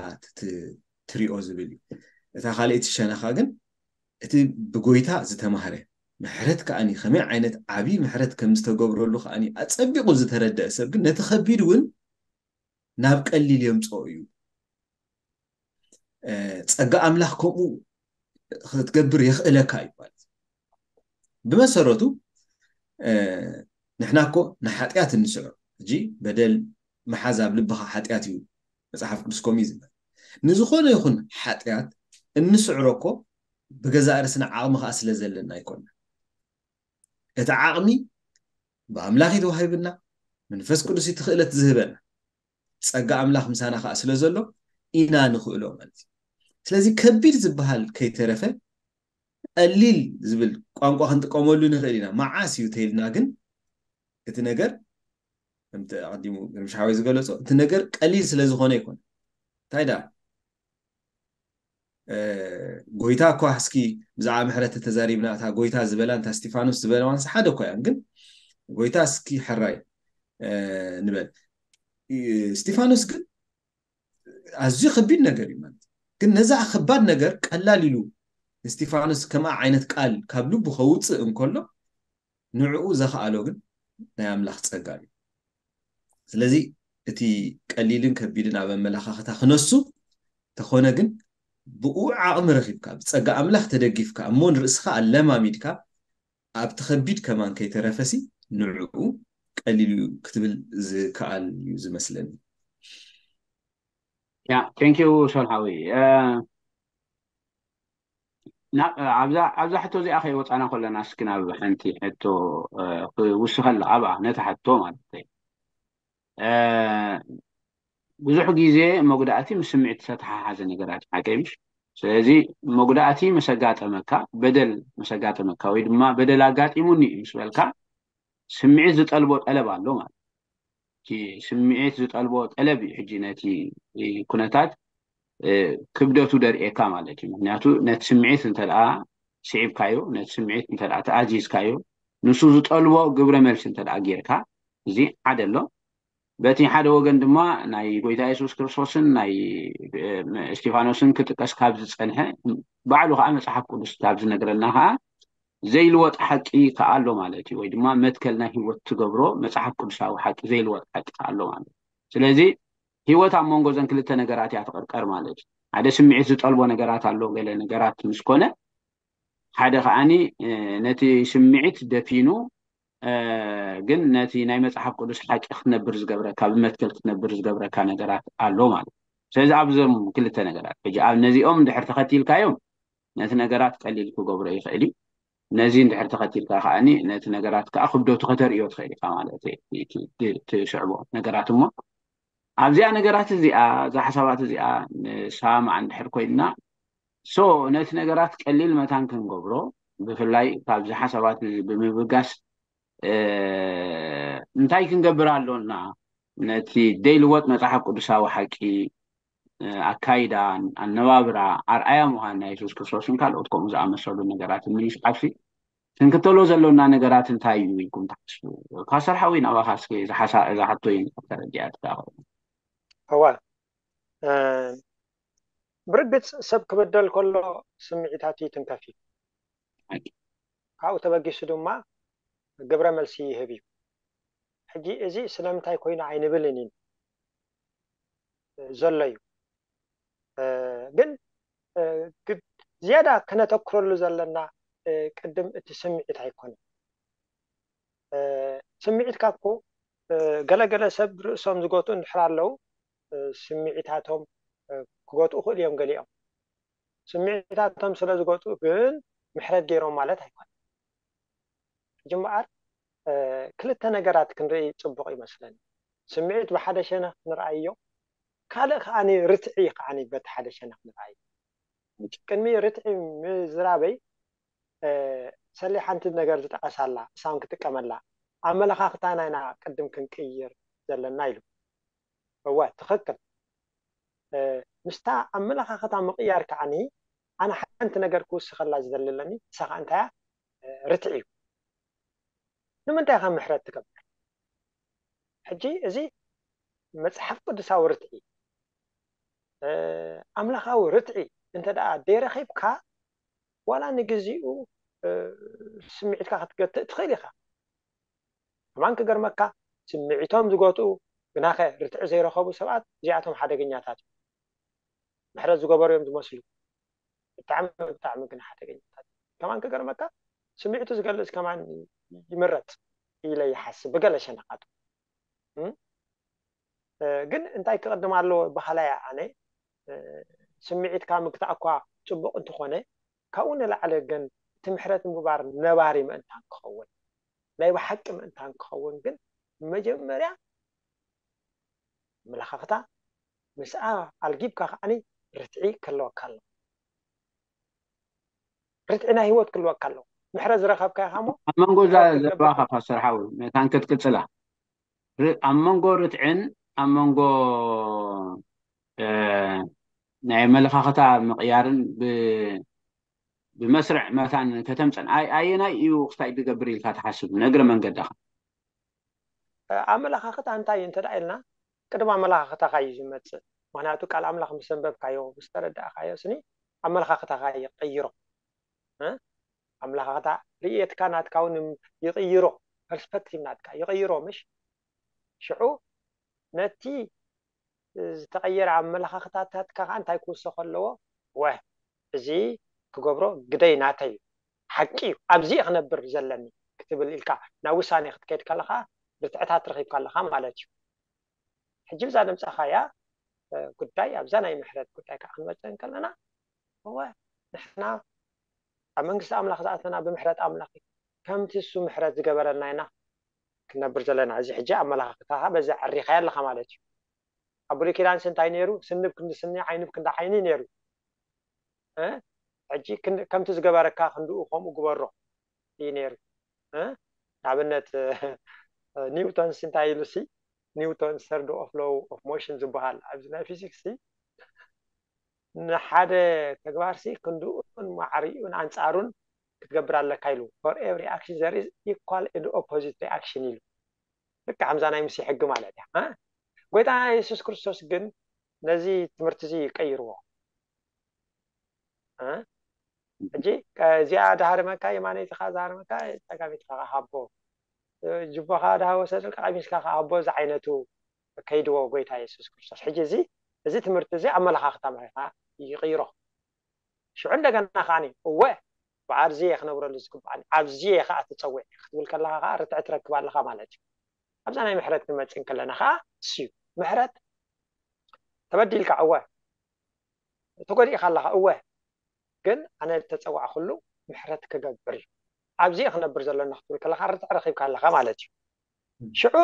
ትሪኦ ዝብል እዩ። እታ ካልኣይቲ ሸነኻ ግን እቲ ብጎይታ ዝተማህረ ምሕረት ከዓኒ ከመይ ዓይነት ዓብዪ ምሕረት ከም ዝተገብረሉ ከዓኒ ኣጸቢቑ ዝተረደአ ሰብ ግን ነቲ ከቢድ እውን ናብ ቀሊል የምፅኦ እዩ። ጸጋ ኣምላኽ ከምኡ ክትገብር የኽእለካ እዩ ማለት እዩ። ብመሰረቱ ንሕና እኮ ንሓጢኣት እንስዕሮ ሕጂ በደል ምሓዝ ኣብ ልብኻ ሓጢኣት እዩ መፅሓፍ ቅዱስ ከምኡ እዩ ዝብል። ንዝኾነ ይኹን ሓጢኣት እንስዕሮ እኮ ብገዛእ ርእስና ዓቕሚ ከዓ ስለ ዘለና ኣይኮንና። እቲ ዓቕሚ ብኣምላኽ እዩ ተዋሂብና፣ መንፈስ ቅዱስ እዩ እቲ ክእለት ዝህበና። ጸጋ ኣምላኽ ምሳና ከዓ ስለ ዘሎ ኢና ንኽእሎ ማለት እዩ። ስለዚ ከቢድ ዝበሃል ከይተረፈ ቀሊል ዝብል ቋንቋ ክንጥቀመሉ ንኽእል ኢና። መዓስ እዩ ተይልና ግን እቲ ነገር ከምቲ ኣቐዲሙ ግርምሽ ሓወይ ዝገለጾ እቲ ነገር ቀሊል ስለ ዝኾነ ኣይኮነ። እንታይ ደኣ ጎይታ እኳ እስኪ ብዛዕባ ምሕረት ተዛሪብና እታ ጎይታ ዝበላ እንታ እስጢፋኖስ ዝበለዋንስ ሓደ እኳ እያን ግን ጎይታ እስኪ ሕራይ ንበል እስጢፋኖስ ግን ኣዝዩ ከቢድ ነገር እዩ ማለት ግን ነዛ ከባድ ነገር ቀላል ኢሉ እስጢፋኖስ ከምኣ ዓይነት ቃል ካብ ልቡ ከውፅእ እንከሎ ንዕኡ ዘኽኣሎ ግን ናይ ኣምላኽ ጸጋ እዩ። ስለዚ እቲ ቀሊልን ከቢድን ኣብ ኣመለኻኽታ ክነሱ ተኾነ ግን ብኡ ዓቕሚ ረኺብካ ብጸጋ ኣምላኽ ተደጊፍካ እሞ ንርእስኻ ኣለማሚድካ ኣብቲ ከቢድ ከማን ከይተረፈሲ ንዕኡ ቀሊል እዩ ክትብል ዝከኣል እዩ ዝመስለኒ። ያ ቴንኪዩ ሶል ሓወይ። ኣብዛ ሕቶ እዚኣ ከይወፃና ከለና እስኪ ናብ ሓንቲ ሕቶ ክውስኸላ ኣብኣ ነታ ሕቶ ማለት ብዙሕ ግዜ መጉዳእቲ ምስ ስምዒት ዝተተሓሓዘ ነገራት ሓቂ ምሽ? ስለዚ መጉዳእቲ መሰጋጠመካ በደል መሰጋጠመካ ወይ ድማ በደል ኣጋጢሙኒ ምስ በልካ ስምዒት ዝጠልቦ ጠለብ ኣሎ ማለት እቲ ስምዒት ዝጠልቦ ጠለብ እዩ ሕጂ ነቲ ኩነታት ክብደቱ ደርእየካ ማለት እዩ። ምክንያቱ ነቲ ስምዒት እንተደኣ ስዒብካዮ፣ ነቲ ስምዒት እንተደኣ ተኣዚዝካዮ፣ ንሱ ዝጠልቦ ግብረ መልሲ እንተደኣ ጌርካ፣ እዚ ሓደ ኣሎ። በቲ ሓደ ወገን ድማ ናይ ጎይታ የሱስ ክርስቶስን ናይ እስጢፋኖስን ክጥቀስ ካብ ዝጸንሐ ባዕሉ ከዓ መጽሓፍ ቅዱስ ካብ ዝነግረና ከዓ ዘይልወጥ ሓቂ ከዓ ኣሎ ማለት እዩ። ወይ ድማ መትከል ናይ ህይወት ትገብሮ መጽሓፍ ቅዱሳዊ ሓቂ ዘይልወጥ ሓቂ ከዓ ኣሎ ማለት እዩ። ስለዚ ህይወት ኣብ መንጎ ዘን ክልተ ነገራት እያ ትቕርቀር ማለት እዩ። ሓደ ስምዒት ዝጠልቦ ነገራት ኣሎ፣ ገለ ነገራት ምስ ኮነ ሓደ ከዓኒ ነቲ ስምዒት ደፊኑ ግን ነቲ ናይ መጽሓፍ ቅዱስ ሓቂ ክትነብር ዝገብረካ ብመትከል ክትነብር ዝገብረካ ነገራት ኣሎ ማለት እዩ። ስለዚ ኣብዞም ክልተ ነገራት ሕጂ ኣብ ነዚኦም እንድሕር ተኸቲልካዮም ነቲ ነገራት ቀሊል ክገብሮ ይኽእል እዩ። ነዚ እንድሕር ተኸቲልካ ከዓኒ ነቲ ነገራት ከዓ ክብደቱ ከተርእዮ ትኽእል ኢኻ ማለት እዩ። ትስዕቦ ነገራት እሞ ኣብዚኣ ነገራት እዚኣ እዛ ሓሳባት እዚኣ ንሰማማዕ እንድሕር ኮይንና ሶ ነቲ ነገራት ቀሊል መታን ክንገብሮ ብፍላይ ካብዚ ሓሳባት እዚ ብምብጋስ እንታይ ክንገብር ኣሎና ነቲ ደይልወጥ መጽሓፍ ቅዱሳዊ ሓቂ ኣካይዳ ኣነባብራ ኣርኣያ ምዃን ናይ የሱስ ክርስቶስን ካልኦት ከምኡ ዝኣመሰሉ ነገራት ንምስዓብሲ ክንክተሎ ዘሎና ነገራት እንታይ እዩ ኢልኩም ትሓስቡ? ፓስተር ሓወይ ናባኻ እስኪ እዛ ሓቶ ተረዲኣትካ እዋ ብርግጽ ሰብ ክበደል ከሎ ስምዒታቱ ይትንከፍ እዩ። ካብኡ ተበጊሱ ድማ ግብረ መልሲ ይህብ እዩ። ሕጂ እዚ ስለምንታይ ኮይኑ ኣይንብልን ኢና ዘሎ እዩ። ግን ዝያዳ ከነተኩረሉ ዘለና ቅድም እቲ ስምዒት ኣይኮነን። ስምዒትካ እኮ ገለገለ ሰብ ርእሶም ዝጎትኡ እንድሕር ኣለዉ ስምዒታቶም ክጎትኡ ክእሉ እዮም ገሊኦም። ስምዒታቶም ስለ ዝጎትኡ ግን ምሕረት ገይሮም ማለት ኣይኮነን። ሕጂ እምበኣር ክልተ ነገራት ክንርኢ ፅቡቕ ይመስለኒ። ስምዒት ብሓደ ሸነኽ ንርኣዮ፣ ካልእ ከዓኒ ርትዒ ከዓኒ በቲ ሓደ ሸነኽ ንርኣዮ። ቅድሚ ርትዒ ምዝራበይ ሰሌ ሓንቲ ነገር ዝጠቐሳላ እሳውን ክጥቀመላ ኣመለኻኽታና ኢና ቅድም ክንቅይር ዘለና ኢሉ። እወ ትኽክል። ምስታ ኣመለኻኽታ ምቕያር ከዓኒ ኣነ ሓንቲ ነገር ክውስኸላ ዝደሊ ኣለኒ። ንሳ ከዓ እንታያ ርትዒ እዩ። ንምንታይ ኢኻ ምሕረት ትገብር? ሕጂ እዚ መጽሓፍ ቅዱሳዊ ርትዒ ኣምላኻዊ ርትዒ እንተ ደኣ ደይረኺብካ ዋላ ንግዚኡ ስምዒትካ ክትገትእ ትኽእል ኢኻ። ከማን ክገርመካ ስምዒቶም ዝገትኡ ግናኸ ርትዒ ዘይረኸቡ ሰባት እዚኣቶም ሓደገኛታት እዮም። ምሕረት ዝገበሩ እዮም ዝመስሉ። ብጣዕሚ ብጣዕሚ ግን ሓደገኛታት እዮም። ከማን ክገርመካ ስምዒቱ ዝገልጽ ከማን ይምረጽ ኢለ ይሓስብ ብገለ ሸነኻቱ። ግን እንታይ ክቕድም ኣለዎ በሃላይ ኣነ ስምዒትካ ምግታእ እኳ ጽቡቕ እንተኾነ ካብኡ ንላዕሊ ግን እቲ ምሕረት ምግባር ነባሪ ምእንታን ክኸውን ናይ ብሓቂ ምእንታን ክኸውን ግን መጀመርያ ኣመለኻኽታ ምስኣ ኣልጊብካ ከዓኒ ርትዒ ክህልወካ ኣለዎ። ርትዒ ናይ ህይወት ክህልወካ ኣለዎ። ምሕረት ዝረኸብካ ኢኻ እሞ ኣብ መንጎ እዛ ዘረባኻ ፓስተር ሓወይ መታን ክትቅጽላ ኣብ መንጎ ርትዕን ኣብ መንጎ ናይ ኣመለኻኽታ ምቕያርን ብመስርዕ መታን ከተምፀን ኣየናይ እዩ ክስታይ ዝገብር ኢልካ ትሓስብ ንእግረ መንገድኻ? ኣመለኻኽታ እንታይ እዩ እንተ ኢልና ቅድሚ ኣመለኻኽታኻ እዩ ዝመፅእ። ምክንያቱ ቃል ኣምላኽ ምስ ኣንበብካዮ ምስ ተረዳእካዮ ስኒ ኣመለኻኽታኻ ይቕይሮ። ኣመለኻኽታ ርእየትካ ናትካ እውን ይቕይሮ። ፐርስፐክቲቭ ናትካ ይቕይሮ። ምሽ ሽዑ ነቲ ዝተቐየረ ኣመለኻኽታታትካ ከዓ እንታይ ክውሰኾ ኣለዎ? ወ እዚ ክገብሮ ግደይ ናተይ እዩ፣ ሓቂ እዩ፣ ኣብዚ እየ ክነብር ዘለኒ ክትብል ኢልካ ናብ ውሳኔ ክትከይድ ከለኻ ርትዕታት ረኺብካ ኣለኻ ማለት እዩ። ሕጂ ብዛ ነምፃኻያ ጉዳይ ኣብዛ ናይ ምሕረት ጉዳይ ከዓ ክንመፅእ እንከለና እወ ንሕና ኣብ መንግስቲ ኣምላኽ ዝኣተና ብምሕረት ኣምላኽ እዩ። ከምቲ እሱ ምሕረት ዝገበረልና ኢና ክንነብር ዘለና። እዚ ሕጂ ኣመለኻኽታኻ በዚ ዓሪኻያ ኣለኻ ማለት እዩ። ኣብ ብሉይ ኪዳንስ እንታይ ነይሩ? ስኒ ብ ክንዲ ስኒ ዓይኒ ብ ክንዲ ዓይኒ ነይሩ። ሕጂ ከምቲ ዝገበረካ ክንድኡ ከምኡ ግበሮ እዩ ነይሩ። ንኣብነት ኒውቶንስ እንታይ ኢሉ ሲ ኒውቶን ሰርዶ ኦፍ ሎው ኦፍ ሞሽን ዝበሃል ኣብዚ ናይ ፊዚክስ ንሓደ ተግባር ሲ ክንድኡን ማዕሪኡን ኣንፃሩን ክትገብር ኣለካ ኢሉ for every action there is equal and opposite reaction ኢሉ ልካ ከምዛ ናይ ሙሴ ሕጊ ማለት እያ። ጎይታ የሱስ ክርስቶስ ግን ነዚ ትምህርቲ እዚ ይቀይርዎ። ሕጂ እዚኣ ድሃርመካ የማነይቲ ካ ዝሃርመካ ፀጋሚትካ ሃቦ ጅቦኻ ድሃ ወሰድልካ ቀሚስካ ሃቦ እዚ ዓይነቱ ከይድዎ ጎይታ የሱስ ክርስቶስ። ሕጂ እዚ እዚ ትምህርቲ እዚ ኣመለኻኽታ ምርካ ይቕይሮ። ሽዑ እንደገና ከዓኒ እወ በዓል ዝየ ክነብረሉ ዝግባኣኒ ኣብዚ እየ ከዓ ተፀዊዐ ክትብል ከለካ ከዓ ርትዒ ትረክብ ኣለካ ማለት እዩ። ኣብዛ ናይ ምሕረት ንመፅእ እንከለና ከዓ እሱ እዩ ምሕረት። ተበዲልካ እወ ተጎዲእካ ኣለካ እወ ግን ኣነ ዝተፀዋዕኩሉ ምሕረት ክገብር እዩ ኣብዚ እየ ክነብር ዘለና ክትብል ከለካ ርትዒ ረኪብካ ኣለካ ማለት እዩ። ሽዑ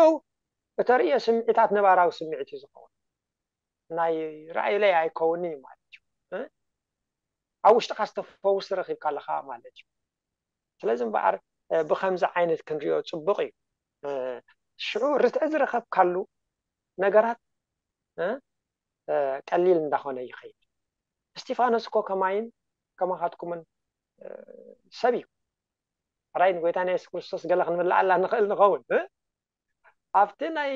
እተርእዮ ስምዒታት ነባራዊ ስምዒት እዩ ዝኸውን። ናይ ራእይለይ ኣይከውንን እዩ ማለት እዩ። ኣብ ውሽጥካ ዝተፈውስ ረኪብካ ኣለካ ማለት እዩ። ስለዚ እምበኣር ብከምዚ ዓይነት ክንሪኦ ፅቡቅ እዩ። ሽዑ ርትዒ ዝረከብካሉ ነገራት ቀሊል እንዳኮነ ይኸይድ። እስቲፋኖስ እኮ ከማይን ከማኻትኩምን ሰብ እዩ። ራይ ንጎይታ ናይ የሱስ ክርስቶስ ገለ ክንምልኣላ ንኽእል ንኸውን ኣብቲ ናይ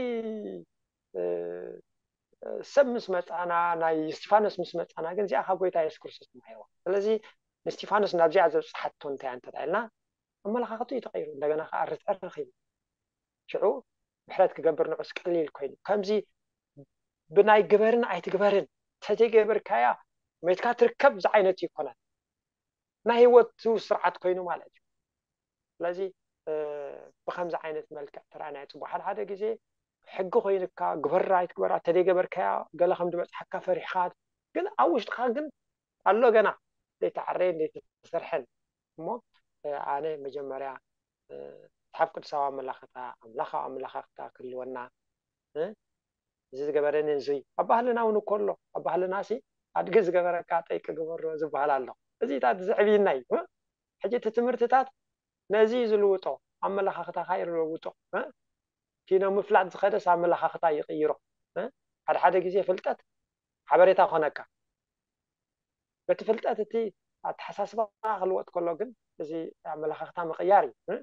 ሰብ ምስ መፃና ናይ እስቲፋኖስ ምስ መፃና ግን እዚኣ ካብ ጎይታ የሱስ ክርስቶስ ተማሂርዋ። ስለዚ ንእስቲፋኖስ ናብዚኣ ዘብፅሓቶ እንታይ እንተ ኢልና ኣመለኻኽቱ እዩ ተቀይሩ። እንደገና ከዓ ርትዕ ረኪቡ ሽዑ ምሕረት ክገብር ንዑስ ቀሊል ኮይኑ ከምዚ ብናይ ግበርን ኣይትግበርን ተዘይገበርካያ መትካ ትርከብ ዝዓይነት ይኮነን። ናይ ህይወቱ ስርዓት ኮይኑ ማለት እዩ። ስለዚ ብከምዚ ዓይነት መልክዕ ተረኣናዮ ፅቡቅ ሓደ ሓደ ግዜ ሕጊ ኮይንካ ግበራ ኣይትግበራ ተደይገበርካያ ገለ ከም ዝበፅሓካ ፈሪሕካ ግን ኣብ ውሽጥካ ግን ኣሎ ገና ዘይተዓረየን ዘይተሰርሐን እሞ ኣነ መጀመርያ መፅሓፍ ቅዱሳዊ ኣመላኽታ ኣምላኻዊ ኣመላኻኽታ ክህልወና እዚ ዝገበረኒ እዚ ኣብ ባህልና እውን እኮ ኣሎ ኣብ ባህልና ሲ ኣድጊ ዝገበረካ ጠይቂ ግበሮ ዝበሃል ኣሎ እዚታት ዘዕብይና እዩ ሕጂ እቲ ትምህርትታት ነዚ እዩ ዝልውጦ ኣመለኻኽታኻ ይለውጦ ኪኖ ምፍላጥ ዝኸደስ ኣመለኻኽታ ይቕይሮ ሓደ ሓደ ግዜ ፍልጠት ሓበሬታ ኮነካ በቲ ፍልጠት እቲ ኣተሓሳስባ ክልወጥ ከሎ ግን እዚ ኣመለኻኽታ ምቕያር እዩ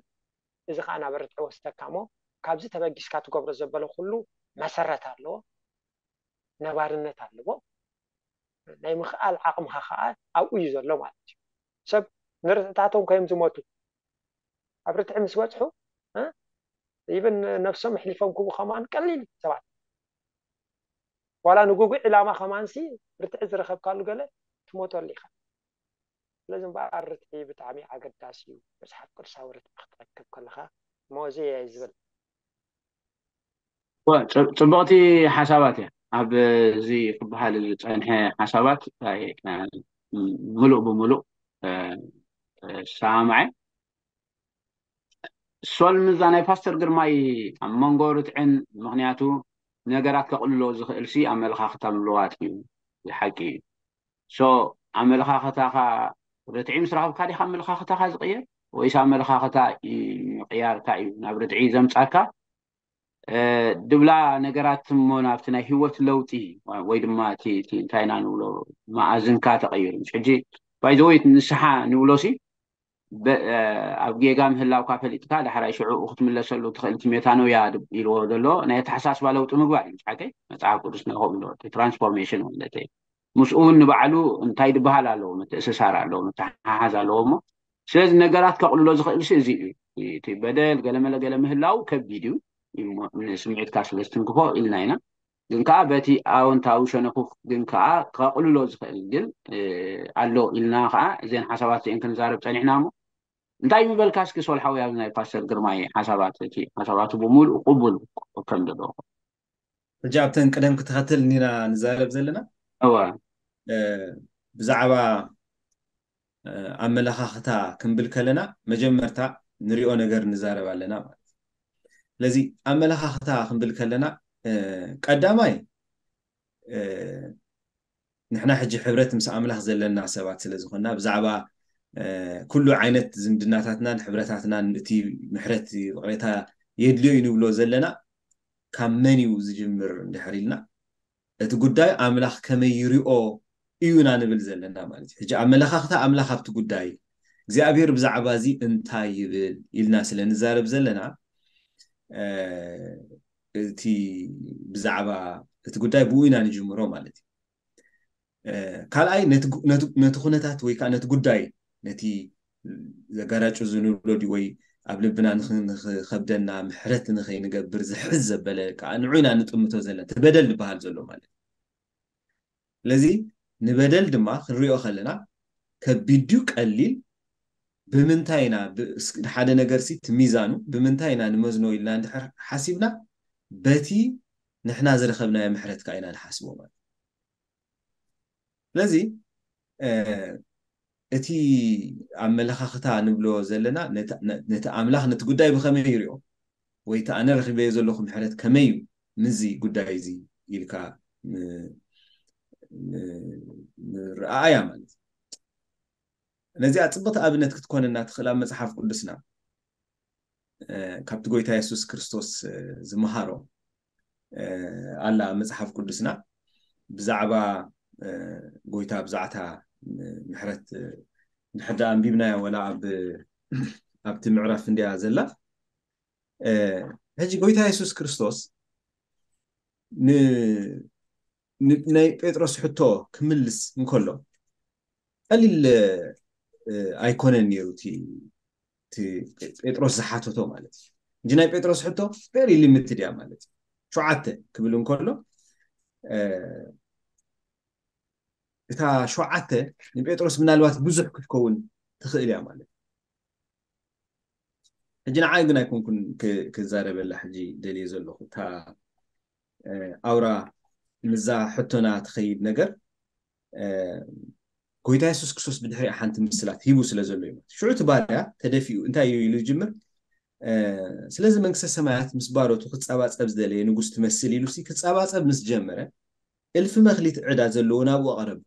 እዚ ከዓ ናብ ርትዒ ወስደካ እሞ ካብዚ ተበጊስካ ትገብሮ ዘበለ ኩሉ መሰረት ኣለዎ ነባርነት ኣለዎ ናይ ምኽኣል ዓቕምኻ ከዓ ኣብኡ እዩ ዘሎ ማለት እዩ ሰብ ንርትዕታቶም ከዮም ዝሞቱ ኣብ ርትዒ ምስ በፅሑ ይብን ነብሶም ኣሕሊፎም ክቡ ከማን ቀሊል ሰባት ዋላ ንጉጉ ዕላማ ከማንሲ ርትዒ ዝረከብካሉ ገለ ትሞተሉ ኢኻ ስለዚ እምበኣር ርትዒ ብጣዕሚ ኣገዳሲ እዩ መፅሓፍ ቅዱሳዊ ርትዒ ክትረክብ ከለካ ሞዚ እየ ዝብል ፅቡቕቲ ሓሳባት እያ ኣብዚ ክበሃል ዝፀንሐ ሓሳባት ምሉእ ብምሉእ ሰማማዐ ሶል ምዛ ናይ ፓስተር ግርማይ ኣብ መንጎ ርትዕን ምክንያቱ ነገራት ከቕልሎ ዝኽእል ሲ ኣመለኻኽታ ምልዋጥ እዩ ዝሓቂ እዩ ሶ ኣመለኻኽታኻ ርትዒ ምስ ረኸብካ ዲኻ ኣመለኻኽታኻ ዝቕየር ወይስ ኣመለኻኽታ ምቕያርካ እዩ ናብ ርትዒ ዘምፃካ ድብላ ነገራት እሞ ናብቲ ናይ ህይወት ለውጢ ወይ ድማ እቲ እንታይ ኢና ንብሎ መኣዝንካ ተቐይሩ ምስ ሕጂ ባይዘወይ ንስሓ ንብሎ ሲ ኣብ ጌጋ ምህላውካ ፈሊጥካ ዳሕራይ ሽዑ ክትምለሰሉ ትኽእል እቲ ሜታኖያ ኢልዎ ዘሎ ናይ ኣተሓሳስባ ለውጢ ምግባር እዩ ሓቀይ መፅሓፍ ቅዱስ ንኸምሎ ትራንስፎርሜሽን ማለት እዩ ምስኡ እውን ንባዕሉ እንታይ ዝበሃል ኣለዎ ምትእስሳር ኣለዎ ምትሓሓዝ ኣለዎ እሞ ስለዚ ነገራት ከቕልሎ ዝኽእል ሲ እዚ እዩ እቲ በደል ገለመለ ገለ ምህላው ከቢድ እዩ። እሞ ንስምዒትካ ስለ ዝትንክፎ ኢልና ኢና። ግን ከዓ በቲ ኣወንታዊ ሸነኹ ግን ከዓ ከቕልሎ ዝኽእል ግን ኣሎ ኢልና ከዓ እዘን ሓሳባት እዚአን ክንዛረብ ፀኒሕና። እሞ እንታይ ምበልካ እስኪ ሶል ሓዊ ኣብዚ ናይ ፓስተር ግርማይ ሓሳባት? እቲ ሓሳባቱ ብምሉእ ቅቡል ከም ዘለዎ ሕጂ ኣብተን ቅደም ክትኸተል እንዲና ንዛረብ ዘለና። እወ ብዛዕባ ኣመለኻኽታ ክንብል ከለና መጀመርታ ንሪኦ ነገር ንዛረብ ኣለና ማለት እዩ። ስለዚ ኣመለኻኽታ ክንብል ከለና ቀዳማይ ንሕና ሕጂ ሕብረት ምስ ኣምላኽ ዘለና ሰባት ስለ ዝኾንና ብዛዕባ ኩሉ ዓይነት ዝምድናታትናን ሕብረታትናን እቲ ምሕረት ይቕሬታ የድልዮ እዩ ንብሎ ዘለና ካብ መን እዩ ዝጅምር እንድሕር ኢልና እቲ ጉዳይ ኣምላኽ ከመይ ይሪኦ እዩና ንብል ዘለና ማለት እዩ። ሕጂ ኣመለኻኽታ ኣምላኽ ኣብቲ ጉዳይ እግዚኣብሔር ብዛዕባ እዚ እንታይ ይብል ኢልና ስለ ንዛረብ ዘለና እቲ ብዛዕባ እቲ ጉዳይ ብኡ ኢና ንጅምሮ ማለት እዩ። ካልኣይ ነቲ ኩነታት ወይ ከዓ ነቲ ጉዳይ ነቲ ዘጋራጩ ዝንብሎ ድዩ ወይ ኣብ ልብና ንኸብደና ምሕረት ንኸይንገብር ዝሕዝ ዘበለ ከዓ ንዑ ኢና ንጥምቶ ዘለና እቲ በደል ዝበሃል ዘሎ ማለት እዩ። ስለዚ ንበደል ድማ ክንሪኦ ከለና ከቢድ ድዩ ቀሊል ብምንታይ ኢና ሓደ ነገር ሲ ሚዛኑ ብምንታይ ኢና ንመዝኖ ኢልና እንድሕር ሓሲብና በቲ ንሕና ዝረኸብናዮ ምሕረት ከዓ ኢና ንሓስቦ ማለት ስለዚ እቲ ኣመለኻኽታ ንብሎ ዘለና ነቲ ኣምላኽ ነቲ ጉዳይ ብኸመይ ይሪኦ ወይ እቲ ኣነ ረኺበዮ ዘለኹ ምሕረት ከመይ እዩ ምዚ ጉዳይ እዚ ኢልካ ንረኣያ ማለት ነዚኣ ፅብቕቲ ኣብነት ክትኮነና ትኽእል ኣብ መፅሓፍ ቅዱስና ካብቲ ጎይታ የሱስ ክርስቶስ ዝመሃሮ ኣላ መፅሓፍ ቅዱስና ብዛዕባ ጎይታ ብዛዕታ ምሕረት ንሕዳ ኣንቢብናያ ወላ ኣብቲ ምዕራፍ እንዲያ ዘላ ሕጂ ጎይታ የሱስ ክርስቶስ ናይ ጴጥሮስ ሕቶ ክምልስ እንከሎ ቀሊል ኣይኮነን ነይሩ ጴጥሮስ ዝሓተቶ ማለት እዩ እንጂ ናይ ጴጥሮስ ሕቶ very limited እያ ማለት እዩ ሸውዓተ ክብል እንከሎ እታ ሸውዓተ ንጴጥሮስ ምናልባት ብዙሕ ክትከውን ትኽእል እያ ማለት እዩ ሕጂ ንዓይ ግን ኣይኮንኩን ክዛረበላ ሕጂ ደልየ ዘለኹ እታ ኣውራ ምዛ ሕቶና ትኸይድ ነገር ጎይታ የሱስ ክርስቶስ ብድሕሪኣ ሓንቲ ምስላት ሂቡ ስለ ዘሎ እዩ ሽዑ እቲ ባርያ ተደፊኡ እንታይ እዩ ኢሉ ይጅምር ስለዚ መንግስተ ሰማያት ምስ ባሮቱ ክፀባፀብ ዝደለየ ንጉስ ትመስል ኢሉ ክፀባፀብ ምስ ጀመረ እልፊ መክሊት ዕዳ ዘለዎ ናብኡ ኣቕረቡ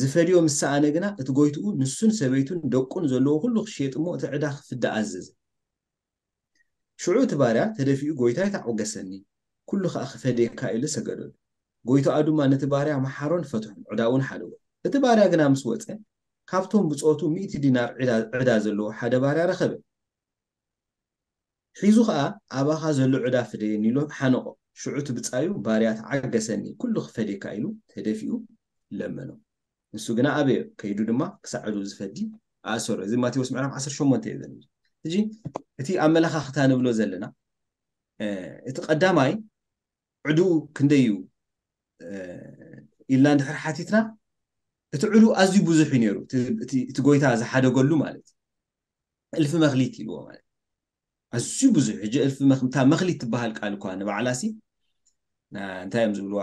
ዝፈድዮ ምስ ሰኣነ ግና እቲ ጎይትኡ ንሱን ሰበይቱን ደቁን ዘለዎ ኩሉ ክሽየጥ እሞ እቲ ዕዳ ክፍዳ ኣዘዘ ሽዑ እቲ ባርያ ተደፊኡ ጎይታይ ታዕወገሰኒ ኩሉ ከዓ ክፈድየካ ኢሉ ሰገደሉ ጎይታኡ ድማ ነቲ ባርያ መሓሮን ፈትሑን ዕዳውን ሓደጎ እቲ ባርያ ግና ምስ ወፀ ካብቶም ብፆቱ ሚእቲ ዲናር ዕዳ ዘለዎ ሓደ ባርያ ረኸበ ሒዙ ከዓ ኣባኻ ዘሎ ዕዳ ፍደየኒ ኢሉ ሓነቆ ሽዑ እቲ ብፃዩ ባርያ ተዓገሰኒ ኩሉ ክፈድየካ ኢሉ ተደፊኡ ለመኖ ንሱ ግና ኣበዮ ከይዱ ድማ ክሳዕ ዕድኡ ዝፈዲ ኣእሰሮ እዚ ማቴዎስ ምዕራፍ ዓሰርተ ሸሞንተ እዩ ዘሎ ሕጂ እቲ ኣመለኻኽታ ንብሎ ዘለና እቲ ቀዳማይ ዕድኡ ክንደይ እዩ ኢልና እንድሕር ሓቲትና እቲ ዕድኡ ኣዝዩ ብዙሕ እዩ ነይሩ እቲ ጎይታ ዝሓደገሉ ማለት እልፊ መክሊት ኢልዎ ማለት ኣዝዩ ብዙሕ ሕጂ እልፊ እታ መክሊት ትበሃል ቃል እኳ ንባዕላሲ እንታይ እዮም ዝብልዋ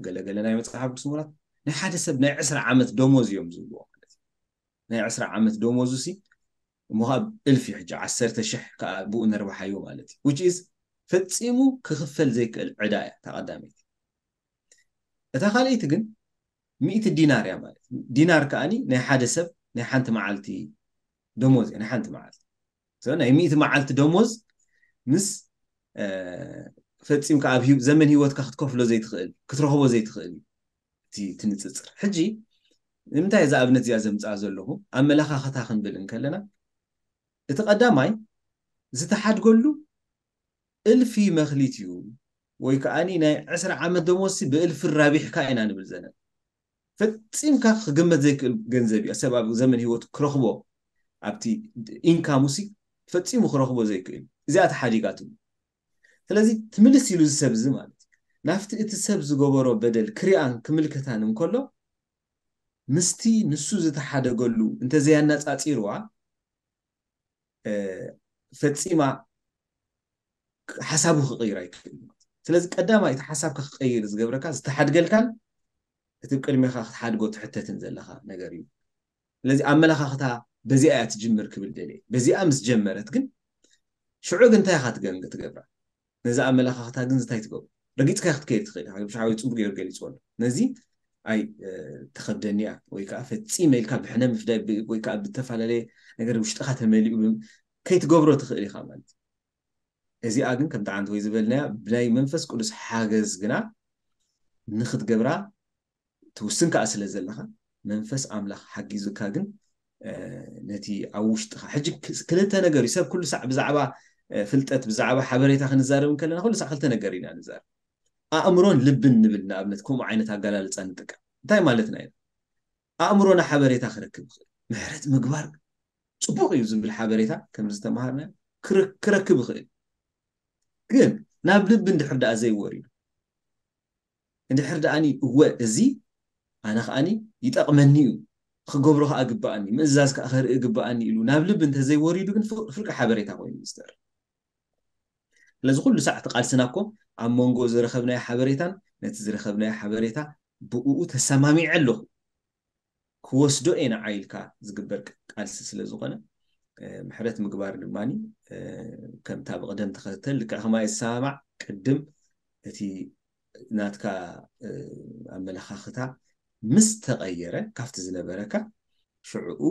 ገለገለ ናይ መፅሓፍ ቅዱስ ምሁራት ናይ ሓደ ሰብ ናይ ዕስራ ዓመት ደሞዝ እዮም ዝብልዎ ማለት ናይ ዕስራ ዓመት ደሞዙ ሲ እሞ ካብ እልፊ ሕጂ ዓሰርተ ሽሕ ከዓ ብኡ ነርባሓዮ ማለት እዩ which is ፈፂሙ ክኽፈል ዘይክእል ዕዳ እያ እታ ቀዳመይቲ እታ ካልኣይቲ ግን ሚእቲ ዲናር እያ ማለት ዲናር ከዓኒ ናይ ሓደ ሰብ ናይ ሓንቲ መዓልቲ ደሞዝ እያ ናይ ሓንቲ መዓልቲ ናይ ሚእቲ መዓልቲ ደሞዝ ምስ ፈፂምካ ኣብ ዘመን ሂወትካ ክትከፍሎ ዘይትኽእል ክትረኽቦ ዘይትኽእል እዩ እቲ ትንፅፅር ሕጂ ንምንታይ እዛ ኣብነት እዚኣ ዘምፅኣ ዘለኹ ኣመለኻኽታ ክንብል እንከለና እቲ ቀዳማይ ዝተሓድገሉ እልፊ መክሊት እዩ ወይ ከዓ ናይ ዕስራ ዓመት ደሞዝሲ ብእልፊ ራቢሕካ ኢና ንብል ዘለና ፈፂምካ ክግመት ዘይክእል ገንዘብ እዩ ሰብ ኣብ ዘመን ሂወቱ ክረኽቦ ኣብቲ ኢንካሙሲ ፈጺሙ ክረኽቦ ዘይክእል። እዚኣ ተሓዲጋትሉ። ስለዚ ትምልስ ኢሉ እዚ ሰብ እዚ ማለት እዩ። ናብቲ እቲ ሰብ ዝገበሮ በደል ክሪኣን ክምልከታን እንከሎ ምስቲ ንሱ ዝተሓደገሉ እንተዘያነጻጺርዋ ፈጺማ ሓሳቡ ክቕይር ኣይክእል። ስለዚ ቀዳማይ እቲ ሓሳብካ ክቐይር ዝገብረካ ዝተሓድገልካን እቲ ቅድሜኻ ክትሓድጎ ትሕተትን ዘለኻ ነገር እዩ። ስለዚ ኣመለኻኽታ በዚኣ እያ ትጅምር ክብል ደልየ። በዚኣ ምስ ጀመረት ግን ሽዑ ግን እንታይ ኢኻ ትገብራ? ነዚ ኣመለኻኽታ ግን እንታይ ትገብሩ? ረጊፅካ ክትከይድ ትኽእል ኢኻ። ሓወይ ፅቡቅ ገይሩ ገሊፅዎ ኣሎ። ነዚ ኣይ ተኸብደኒ እያ ወይ ከዓ ፈፂመ ኢልካ ብሕነ ምፍዳይ ወይ ከዓ ብተፈላለየ ነገር ውሽጥኻ ተመሊኡ ከይትገብሮ ትኽእል ኢኻ ማለት እዩ። እዚኣ ግን ከምቲ ዓንተ ወይ ዝበልናያ ብናይ መንፈስ ቅዱስ ሓገዝ ግና ንክትገብራ ትውስን ከዓ ስለ ዘለካ መንፈስ ኣምላኽ ሓጊዙካ ግን ነቲ ኣብ ውሽጥኻ ሕጂ ክልተ ነገር እዩ። ሰብ ኩሉ ሳዕ ብዛዕባ ፍልጠት ብዛዕባ ሓበሬታ ክንዛረብ እንከለና ኩሉ ሳዕ ክልተ ነገር ኢና ንዛረብ። ኣእምሮን ልብን ንብል ንኣብነት ከምኡ ዓይነት ኣገላልፃ ንጥቀም። እንታይ ማለትና ኢና? ኣእምሮና ሓበሬታ ክረክብ ይኽእል። ምሕረት ምግባር ፅቡቅ እዩ ዝብል ሓበሬታ ከምዚ ዝተምሃርና ክረክብ ይኽእል። ግን ናብ ልቢ እንድሕር ደኣ ዘይወሪዱ እንድሕር ደኣኒ እወ እዚ ኣነ ከኣኒ ይጠቕመኒ እዩ ክገብሮ ከዓ ግበኣኒ ምእዛዝ ከዓ ከርኢ ግበኣኒ ኢሉ ናብ ልቢ እንተዘይወሪዱ ግን ፍርቂ ሓበሬታ ኮይኑ ዝስተር ስለዚ ኩሉ ሳዕ እቲ ቃልስና እኮ ኣብ መንጎ ዝረኸብናዮ ሓበሬታን ነቲ ዝረኸብናዮ ሓበሬታ ብኡ ተሰማሚዐ ኣለኹ ክወስዶ እየ ንዓ ኢልካ ዝግበር ቃልሲ ስለ ዝኾነ ምሕረት ምግባር ድማ ከምታ ብቕደም ተኸተል ልክዕ ከማይ ዝሰማማዕ ቅድም እቲ ናትካ ኣመለኻኽታ ምስ ተቐየረ ካብቲ ዝነበረካ ሽዕኡ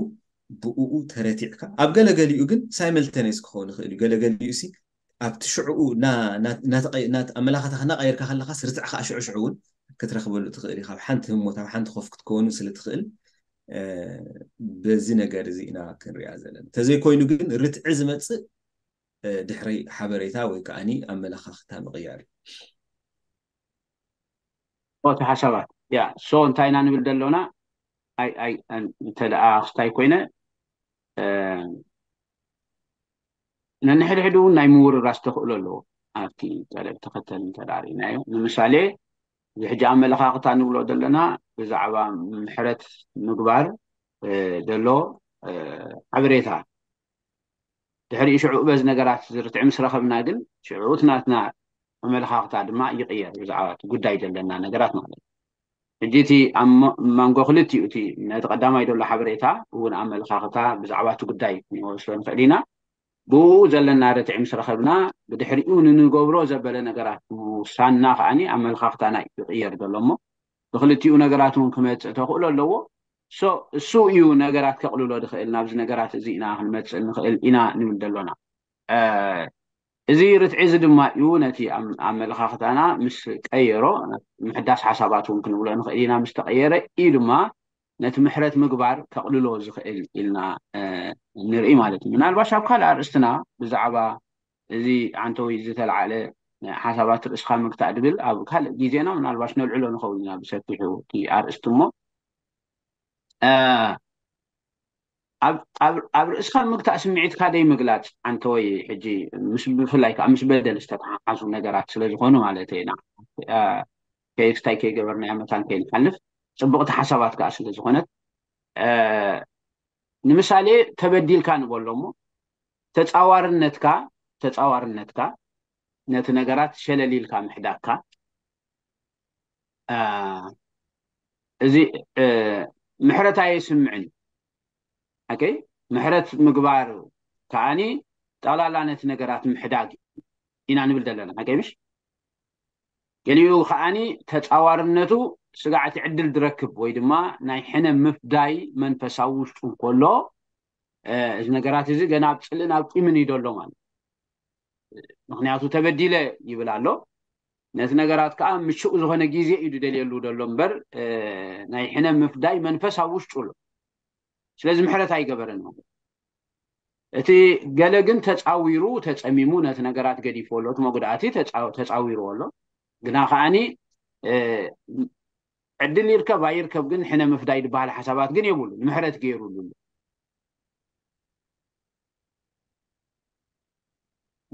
ብኡ ተረቲዕካ ኣብ ገለገሊኡ ግን ሳይመልተኔስ ክኸውን ይኽእል እዩ ገለገሊኡ ሲ ኣብቲ ሽዕኡ ኣመላኻታ ክናቀየርካ ከለካ ስርትዕ ከዓ ሽዑ ሽዑ እውን ክትረክበሉ ትኽእል ኢካ ኣብ ሓንቲ ህሞት ኣብ ሓንቲ ኮፍ ክትከውኑ ስለ ትኽእል በዚ ነገር እዚ ኢና ክንሪኣ ዘለና እንተዘይኮይኑ ግን ርትዒ ዝመፅእ ድሕሪ ሓበሬታ ወይ ከዓ ኣመላኻኽታ ምቕያር እዩ እቲ ሓሳባት ያ ሶ እንታይ ኢና ንብል ዘሎና ኣይ ኣይ እንተ ደኣ ክስታይ ኮይነ ነንሕድሕድ እውን ናይ ምውርራስ ተኽእሎ ኣለዎ ኣብቲ ጠለብ ተኸተል እንተ ርኢናዮ ንምሳሌ እዚ ሕጂ ኣመለኻኽታ ንብሎ ዘለና ብዛዕባ ምሕረት ምግባር ዘሎ ሓበሬታ ድሕሪኡ ሽዑ በዚ ነገራት ዝርትዕ ምስ ረኸብና ግን ሽዑ እቲ ናትና ኣመለኻኽታ ድማ ይቕየር ብዛዕባ እቲ ጉዳይ ዘለና ነገራት ማለት እዩ ሕጂ እቲ ኣብ መንጎ ክልቲኡ እቲ ነቲ ቀዳማይ ዘሎ ሓበሬታ እውን ኣመለኻኽታ ብዛዕባ እቲ ጉዳይ ክንወስዶ ንኽእል ኢና ብኡ ዘለና ርትዒ ምስ ረኸብና ብድሕሪኡ ንንገብሮ ዘበለ ነገራት ምውሳንና ከዓኒ ኣመለኻኽታና ይቕየር ዘሎ እሞ ብክልቲኡ ነገራት እውን ክመፅእ ተኽእሎ ኣለዎ እሱ እዩ ነገራት ከቕልሎ ዝኽእል ናብዚ ነገራት እዚ ኢና ክንመፅእ ንኽእል ኢና ንብል ዘሎና እዚ ርትዒ እዚ ድማ እዩ ነቲ ኣመለኻኽታና ምስ ቀየሮ ምሕዳስ ሓሳባት እውን ክንብሎ ንኽእል ኢና ምስ ተቐየረ እዩ ድማ ነቲ ምሕረት ምግባር ከቕልሎ ዝኽእል ኢልና ንርኢ ማለት እዩ ምናልባሽ ኣብ ካልእ ኣርእስትና ብዛዕባ እዚ ዓንተወይ ዝተለዓለ ሓሳባት ርእስኻ ምግታእ ድብል ኣብ ካልእ ግዜና ምናልባሽ ነልዕሎ ንኸውን ኢና ብሰፊሑ እቲ ኣርእስቲ እሞ ኣብ ርእስኻ ምግታእ ስምዒትካ ደይ ምግላፅ ዓንተወይ ሕጂ ምስ ብፍላይ ከዓ ምስ በደል ዝተተሓሓዙ ነገራት ስለ ዝኾኑ ማለት ኢና ከየክስታይ ከይገበርናዮ መታን ከይንሓልፍ ፅቡቕቲ ሓሳባት ከዓ ስለ ዝኾነት ንምሳሌ ተበዲልካ ንበሎ እሞ ተፃዋርነትካ ተፃዋርነትካ ነቲ ነገራት ሸለሊልካ ምሕዳግካ እዚ ምሕረት ኣየስምዕን ሓቀይ ምሕረት ምግባር ከዓኒ ጠቕላላ ነቲ ነገራት ምሕዳግ ኢና ንብል ዘለና ሓቀይ ምሽ ገሊኡ ከዓኒ ተፃዋርነቱ ስጋዕቲ ዕድል ዝረክብ ወይ ድማ ናይ ሕነ ምፍዳይ መንፈሳዊ ውሽጡ እንከሎ እዚ ነገራት እዚ ገና ኣብ ፅልእን ኣብ ቂምን እዩ ዘሎ ማለት ምክንያቱ ተበዲለ ይብል ኣሎ ነቲ ነገራት ከዓ ምቹእ ዝኾነ ግዜ እዩ ዝደልየሉ ዘሎ እምበር ናይ ሕነ ምፍዳይ መንፈስ ኣብ ውሽጡ ኣሎ ስለዚ ምሕረት ኣይገበረን ማለት እቲ ገለ ግን ተፃዊሩ ተፀሚሙ ነቲ ነገራት ገዲፎ ኣሎ እቲ መጉዳእቲ ተፃዊርዎ ኣሎ ግና ከዓኒ ዕድል ይርከብ ኣይርከብ ግን ሕነ ምፍዳይ ዝበሃል ሓሳባት ግን የብሉ ንምሕረት ገይሩሉ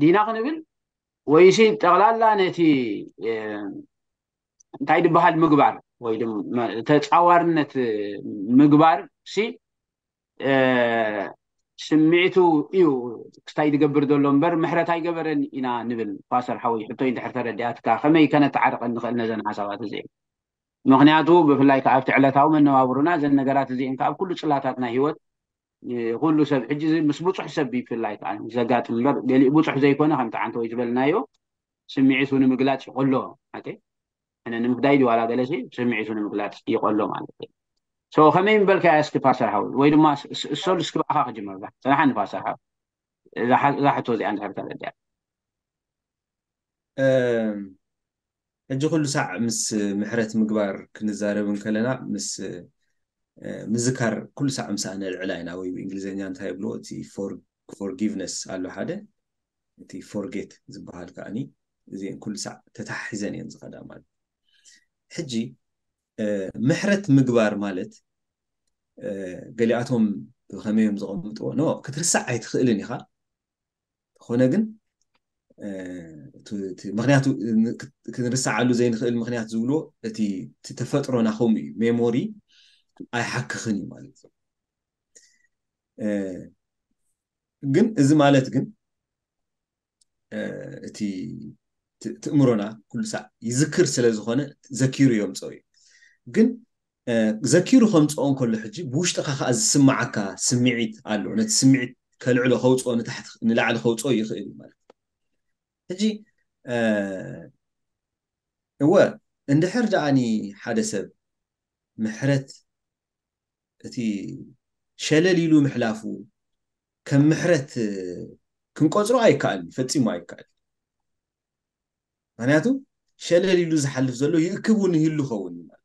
ዲና ክንብል፣ ወይሲ ጠቕላላ ነቲ እንታይ ድበሃል ምግባር ወይ ድማ ተፃዋርነት ምግባር ሲ ስምዒቱ እዩ ክስታይ ዝገብር ዘሎ እምበር ምሕረት ኣይገበረን ኢና ንብል። ፓስተር ሓወይ፣ ሕቶይ እንድሕር ተረዲኣትካ ከመይ ከነተዓርቀን ንኽእል ነዘን ሓሳባት እዚአን? ምኽንያቱ ብፍላይ ከዓ ኣብቲ ዕለታዊ መነባብሩና እዘን ነገራት እዚአን ከዓ ኣብ ኩሉ ፅላታት ናይ ህይወት ኩሉ ሰብ ሕጂ ምስ ብፁሕ ሰብ ይፍላይ ከዓ ዘጋጥም እምበር ገሊእ ብፁሕ ዘይኮነ ከምቲ ዓንተ ወይ ዝበልናዮ ስምዒቱ ንምግላፅ ይቆሎ። ኣነ ንምፍዳይ ድዋላ ገለሲ ስምዒቱ ንምግላፅ ይቆሎ ማለት እዩ። ከመይ ምበልካ እስኪ ፓስተር ሓወይ ወይ ድማ እሶል እስኪ ብኣኻ ክጅመር። ፅናሓኒ ፓስተር ሓወይ እዛ ሕቶ እዚኣ እንድሕር ተረዲኣ። ሕጂ ኩሉ ሳዕ ምስ ምሕረት ምግባር ክንዛረብ እንከለና ምስ ምዝካር ኩሉ ሳዕ ምሳእ ነልዕላ ኢና ወይ ብእንግሊዝኛ እንታይ ይብልዎ እቲ ፎርጊቭነስ ኣሎ ሓደ እቲ ፎርጌት ዝበሃል ከዓኒ እዚአን ኩሉ ሳዕ ተታሒዘን እየን ዝኸዳ ማለት። ሕጂ ምሕረት ምግባር ማለት ገሊኣቶም ብኸመዮም ዘቐምጥዎ ኖ ክትርሳዕ ኣይትኽእልን ኢኻ። ተኾነ ግን ምክንያቱ ክንርሳዓሉ ዘይንኽእል ምክንያት ዝብልዎ እቲ ተፈጥሮና ከምኡ እዩ። ሜሞሪ ኣይሓክኽን እዩ ማለት እዩ። ግን እዚ ማለት ግን እቲ ትእምሮና ኩሉ ሳዕ ይዝክር ስለ ዝኾነ ዘኪሩ የምፅኦ እዩ። ግን ዘኪሩ ከምፅኦ እንከሎ ሕጂ ብውሽጥኻ ከዓ ዝስማዓካ ስምዒት ኣሎ። ነቲ ስምዒት ከልዕሎ ከውፅኦ ንታሕቲ ንላዕሊ ከውፅኦ ይኽእል እዩ ማለት እዩ። ሕጂ እወ እንድሕር ደኣኒ ሓደ ሰብ ምሕረት እቲ ሸለል ኢሉ ምሕላፉ ከም ምሕረት ክንቆፅሮ ኣይከኣልን፣ ፈፂሙ ኣይከኣልን። ምክንያቱ ሸለል ኢሉ ዝሓልፍ ዘሎ ይእክብ እውን ይህሉ ኸውን እዩ ማለት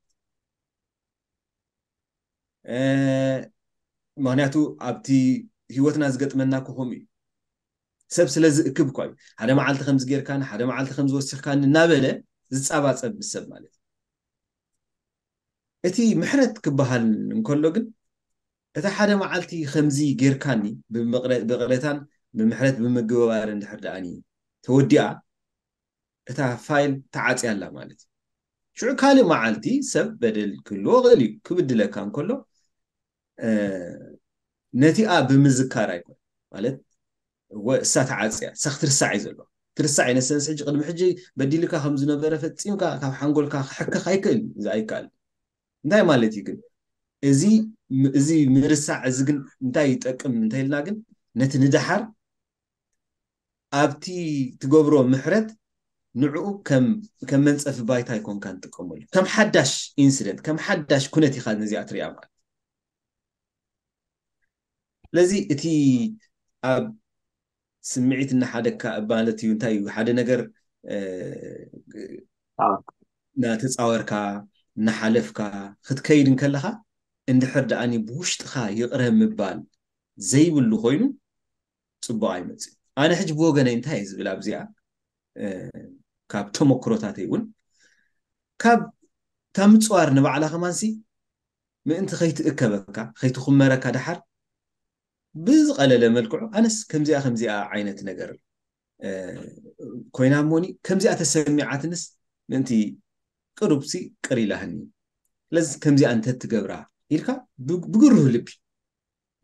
ምክንያቱ ኣብቲ ህይወትና ዝገጥመና ክኾም እዩ። ሰብ ስለ ዝእክብ እኳ እዩ ሓደ መዓልቲ ከምዚ ጌርካኒ ሓደ መዓልቲ ከምዚ ወሲኽካኒ እናበለ ዝፃባፀብ ምስ ሰብ ማለት እዩ። እቲ ምሕረት ክበሃል እንከሎ ግን እታ ሓደ መዓልቲ ከምዚ ጌርካኒ ብቕሬታን ብምሕረት ብምግባር እንድሕር ደኣኒ ተወዲኣ እታ ፋይል ተዓፅያ ኣላ ማለት እዩ። ሽዑ ካልእ መዓልቲ ሰብ በደል ክህልዎ ይኽእል እዩ። ክብድለካ እንከሎ ነቲኣ ብምዝካር ኣይኮን ማለት እወ እሳ ተዓፅያ እሳ ክትርሳዕ እዩ ዘሎ ትርሳዕ እዩ ነሰንስ ሕጂ ቅድሚ ሕጂ በዲልካ ከም ዝነበረ ፈፂምካ ካብ ሓንጎልካ ክሕክኽ ኣይክእል እዚ ኣይከኣል። እንታይ ማለት እዩ ግን እዚ እዚ ምርሳዕ እዚ ግን እንታይ ይጠቅም እንተኢልና ግን ነቲ ንደሓር ኣብቲ ትገብሮ ምሕረት ንዕኡ ከም መንፀፊ ባይታ ይኮንካ ንጥቀመሉ ከም ሓዳሽ ኢንሲደንት ከም ሓዳሽ ኩነት ኢካ ነዚኣ ትሪኣ ማለት ስለዚ እቲ ኣብ ስምዒት እናሓደግካ ማለት እዩ እንታይ እዩ ሓደ ነገር እናተፃወርካ እናሓለፍካ ክትከይድ እንከለካ እንድሕር ደኣኒ ብውሽጥካ ይቕረ ምባል ዘይብሉ ኮይኑ ፅቡቅ ኣይመፅእ ኣነ ሕጂ ብወገነይ እንታይ ዝብል ኣብዚኣ ካብ ተመክሮታተይ እውን ካብ እታ ምፅዋር ንባዕላ ከማንሲ ምእንቲ ከይትእከበካ ከይትኹመረካ ደሓር ብዝቐለለ መልክዑ ኣነስ ከምዚኣ ከምዚኣ ዓይነት ነገር ኮይና እሞኒ ከምዚኣ ተሰሚዓትንስ ምእንቲ ቅሩብሲ ቅር ኢላህኒ ስለዚ ከምዚኣ እንተትገብራ ኢልካ ብግሩህ ልቢ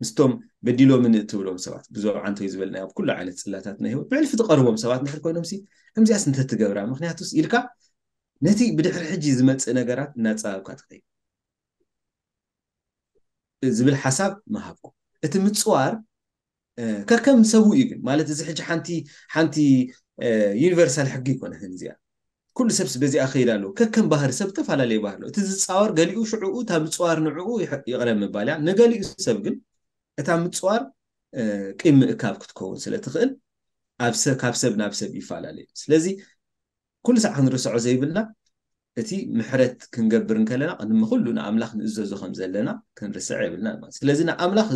ምስቶም በዲሎምን እትብሎም ሰባት ብዞም ዓንተይ ዝበልና ኣብ ኩሉ ዓይነት ፅላታት ናይ ህይወት ብሕልፊ ትቐርቦም ሰባት እንድሕር ኮይኖም ሲ ከምዚኣስ እንተትገብራ ምክንያቱስ ኢልካ ነቲ ብድሕሪ ሕጂ ዝመፅእ ነገራት እናፀባብካ ትኸይድ ዝብል ሓሳብ ምሃብኩ እቲ ምፅዋር ከከም ሰቡ እዩ ግን ማለት እዚ ሕጂ ሓንቲ ሓንቲ ዩኒቨርሳል ሕጊ ይኮነ እዚኣ ኩሉ ሰብስ በዚኣ ከይድ ኣለዎ ከከም ባህሪ ሰብ ዝተፈላለየ ባህሪ ኣለዎ እቲ ዝፃወር ገሊኡ ሽዕኡ እታ ምፅዋር ንዕኡ ይቕረ ምባል እያ ንገሊኡ ሰብ ግን እታ ምፅዋር ቂም ምእካብ ክትከውን ስለ ትኽእል ኣብ ሰብ ካብ ሰብ ናብ ሰብ ይፈላለዩ ስለዚ ኩሉ ሳዕ ክንርስዖ ዘይብልና እቲ ምሕረት ክንገብር እንከለና ቅድሚ ኩሉ ንኣምላኽ ንእዘዞ ከም ዘለና ክንርስዕ የብልና ማለት ስለዚ ንኣምላኽ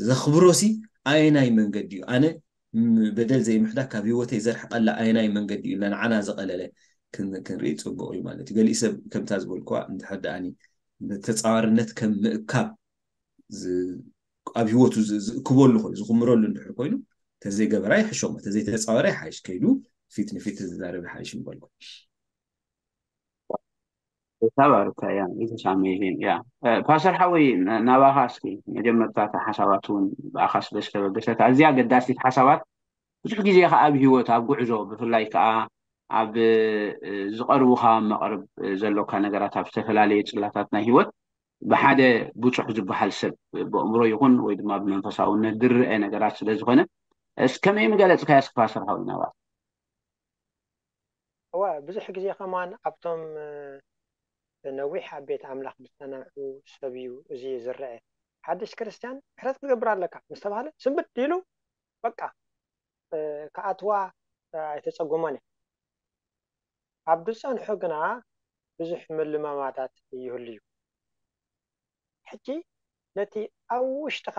ዘኽብሮሲ ኣየናይ መንገዲ እዩ ኣነ በደል ዘይምሕዳግ ካብ ህይወተይ ዘርሕቀላ ኣየናይ መንገዲ እዩ ንዓና ዝቐለለ ክንርኢ ፅቡቅ እዩ ማለት እዩ ገሊእ ሰብ ከምታ ዝበልኩዋ እንድሕር ደኣኒ ተፃዋርነት ከም ምእካብ ኣብ ህይወቱ ዝእክበሉ ኮይኑ ዝኽምረሉ እንድሕር ኮይኑ ተዘይገበራ ይሕሾም፣ ተዘይተፃወረ ይሓይሽ፣ ከይዱ ፊት ንፊት ተዛረበ ይሓይሽ ምበልኩ። ተባረካ። ያ ኢትስ ኣሜዚንግ። ያ ፓስተር ሓወይ፣ ናባኻ እስኪ መጀመርታ ሓሳባት እውን ብኣኻ ስለ ዝተበገሰት ኣዝያ ኣገዳሲት ሓሳባት፣ ብዙሕ ግዜ ከዓ ኣብ ህይወት ኣብ ጉዕዞ ብፍላይ ከዓ ኣብ ዝቐርቡካ መቕርብ ዘሎካ ነገራት ኣብ ዝተፈላለዩ ጽላታት ናይ ህይወት ብሓደ ብፁሕ ዝበሃል ሰብ ብኣእምሮ ይኹን ወይ ድማ ብመንፈሳውነት ዝረአ ነገራት ስለ ዝኾነ እስ ከመይ ምገለጽካ እስኪ ፓስተር ሓወይ ናባኻ? እዋ ብዙሕ ግዜ ከማን ኣብቶም ነዊሕ ኣብ ቤት ኣምላኽ ዝጸንሑ ሰብ እዩ እዚ ዝረአ። ሓድሽ ክርስትያን ምሕረት ክትገብር ኣለካ ምስ ተባህለ ስንብድ ኢሉ በቃ ክኣትዋ ኣይተጸገሞን እዩ። ኣብ ዝጸንሑ ግና ብዙሕ ምልማማዳት ይህሉ እዩ። ሕጂ ነቲ ኣብ ውሽጥኻ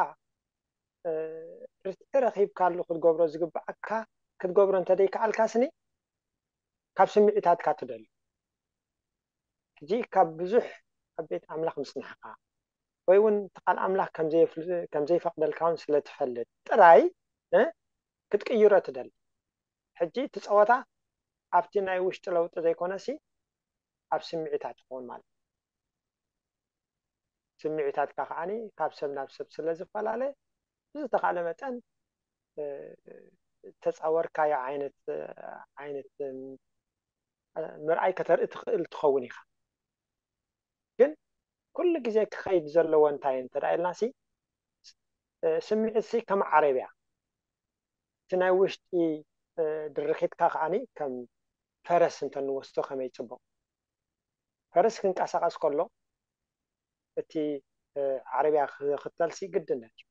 ርትዒ ረኺብካሉ ክትገብሮ ዝግብኣካ ክትገብሮ እንተደይከኣልካ ስኒ ካብ ስምዒታትካ ትደሊ። ሕጂ ካብ ብዙሕ ኣብ ቤት ኣምላኽ ምጽናሕካ ወይ እውን እቲ ቃል ኣምላኽ ከም ዘይፈቅደልካ እውን ስለ ትፈልጥ ጥራይ ክትቅይሮ ትደሊ። ሕጂ እቲ ጸወታ ኣብቲ ናይ ውሽጢ ለውጢ ዘይኮነሲ ኣብ ስምዒታት ይኸውን ማለት እዩ። ስምዒታትካ ከዓኒ ካብ ሰብ ናብ ሰብ ስለ ዝፈላለ ብዝተኻለ መጠን ተጻወርካዮ ዓይነት ዓይነት ምርኣይ ከተርኢ ትኽእል ትኸውን ኢኻ። ግን ኩሉ ግዜ ክኸይድ ዘለዎ እንታይ እንተ ኢልናሲ ስምዒትሲ ከም ዓረብያ እቲ ናይ ውሽጢ ድርኺትካ ከዓኒ ከም ፈረስ እንተንወስዶ ከመይ ጽቡቕ። ፈረስ ክንቀሳቐስ ከሎ እቲ ዓረብያ ክኽተልሲ ግድነት እዩ።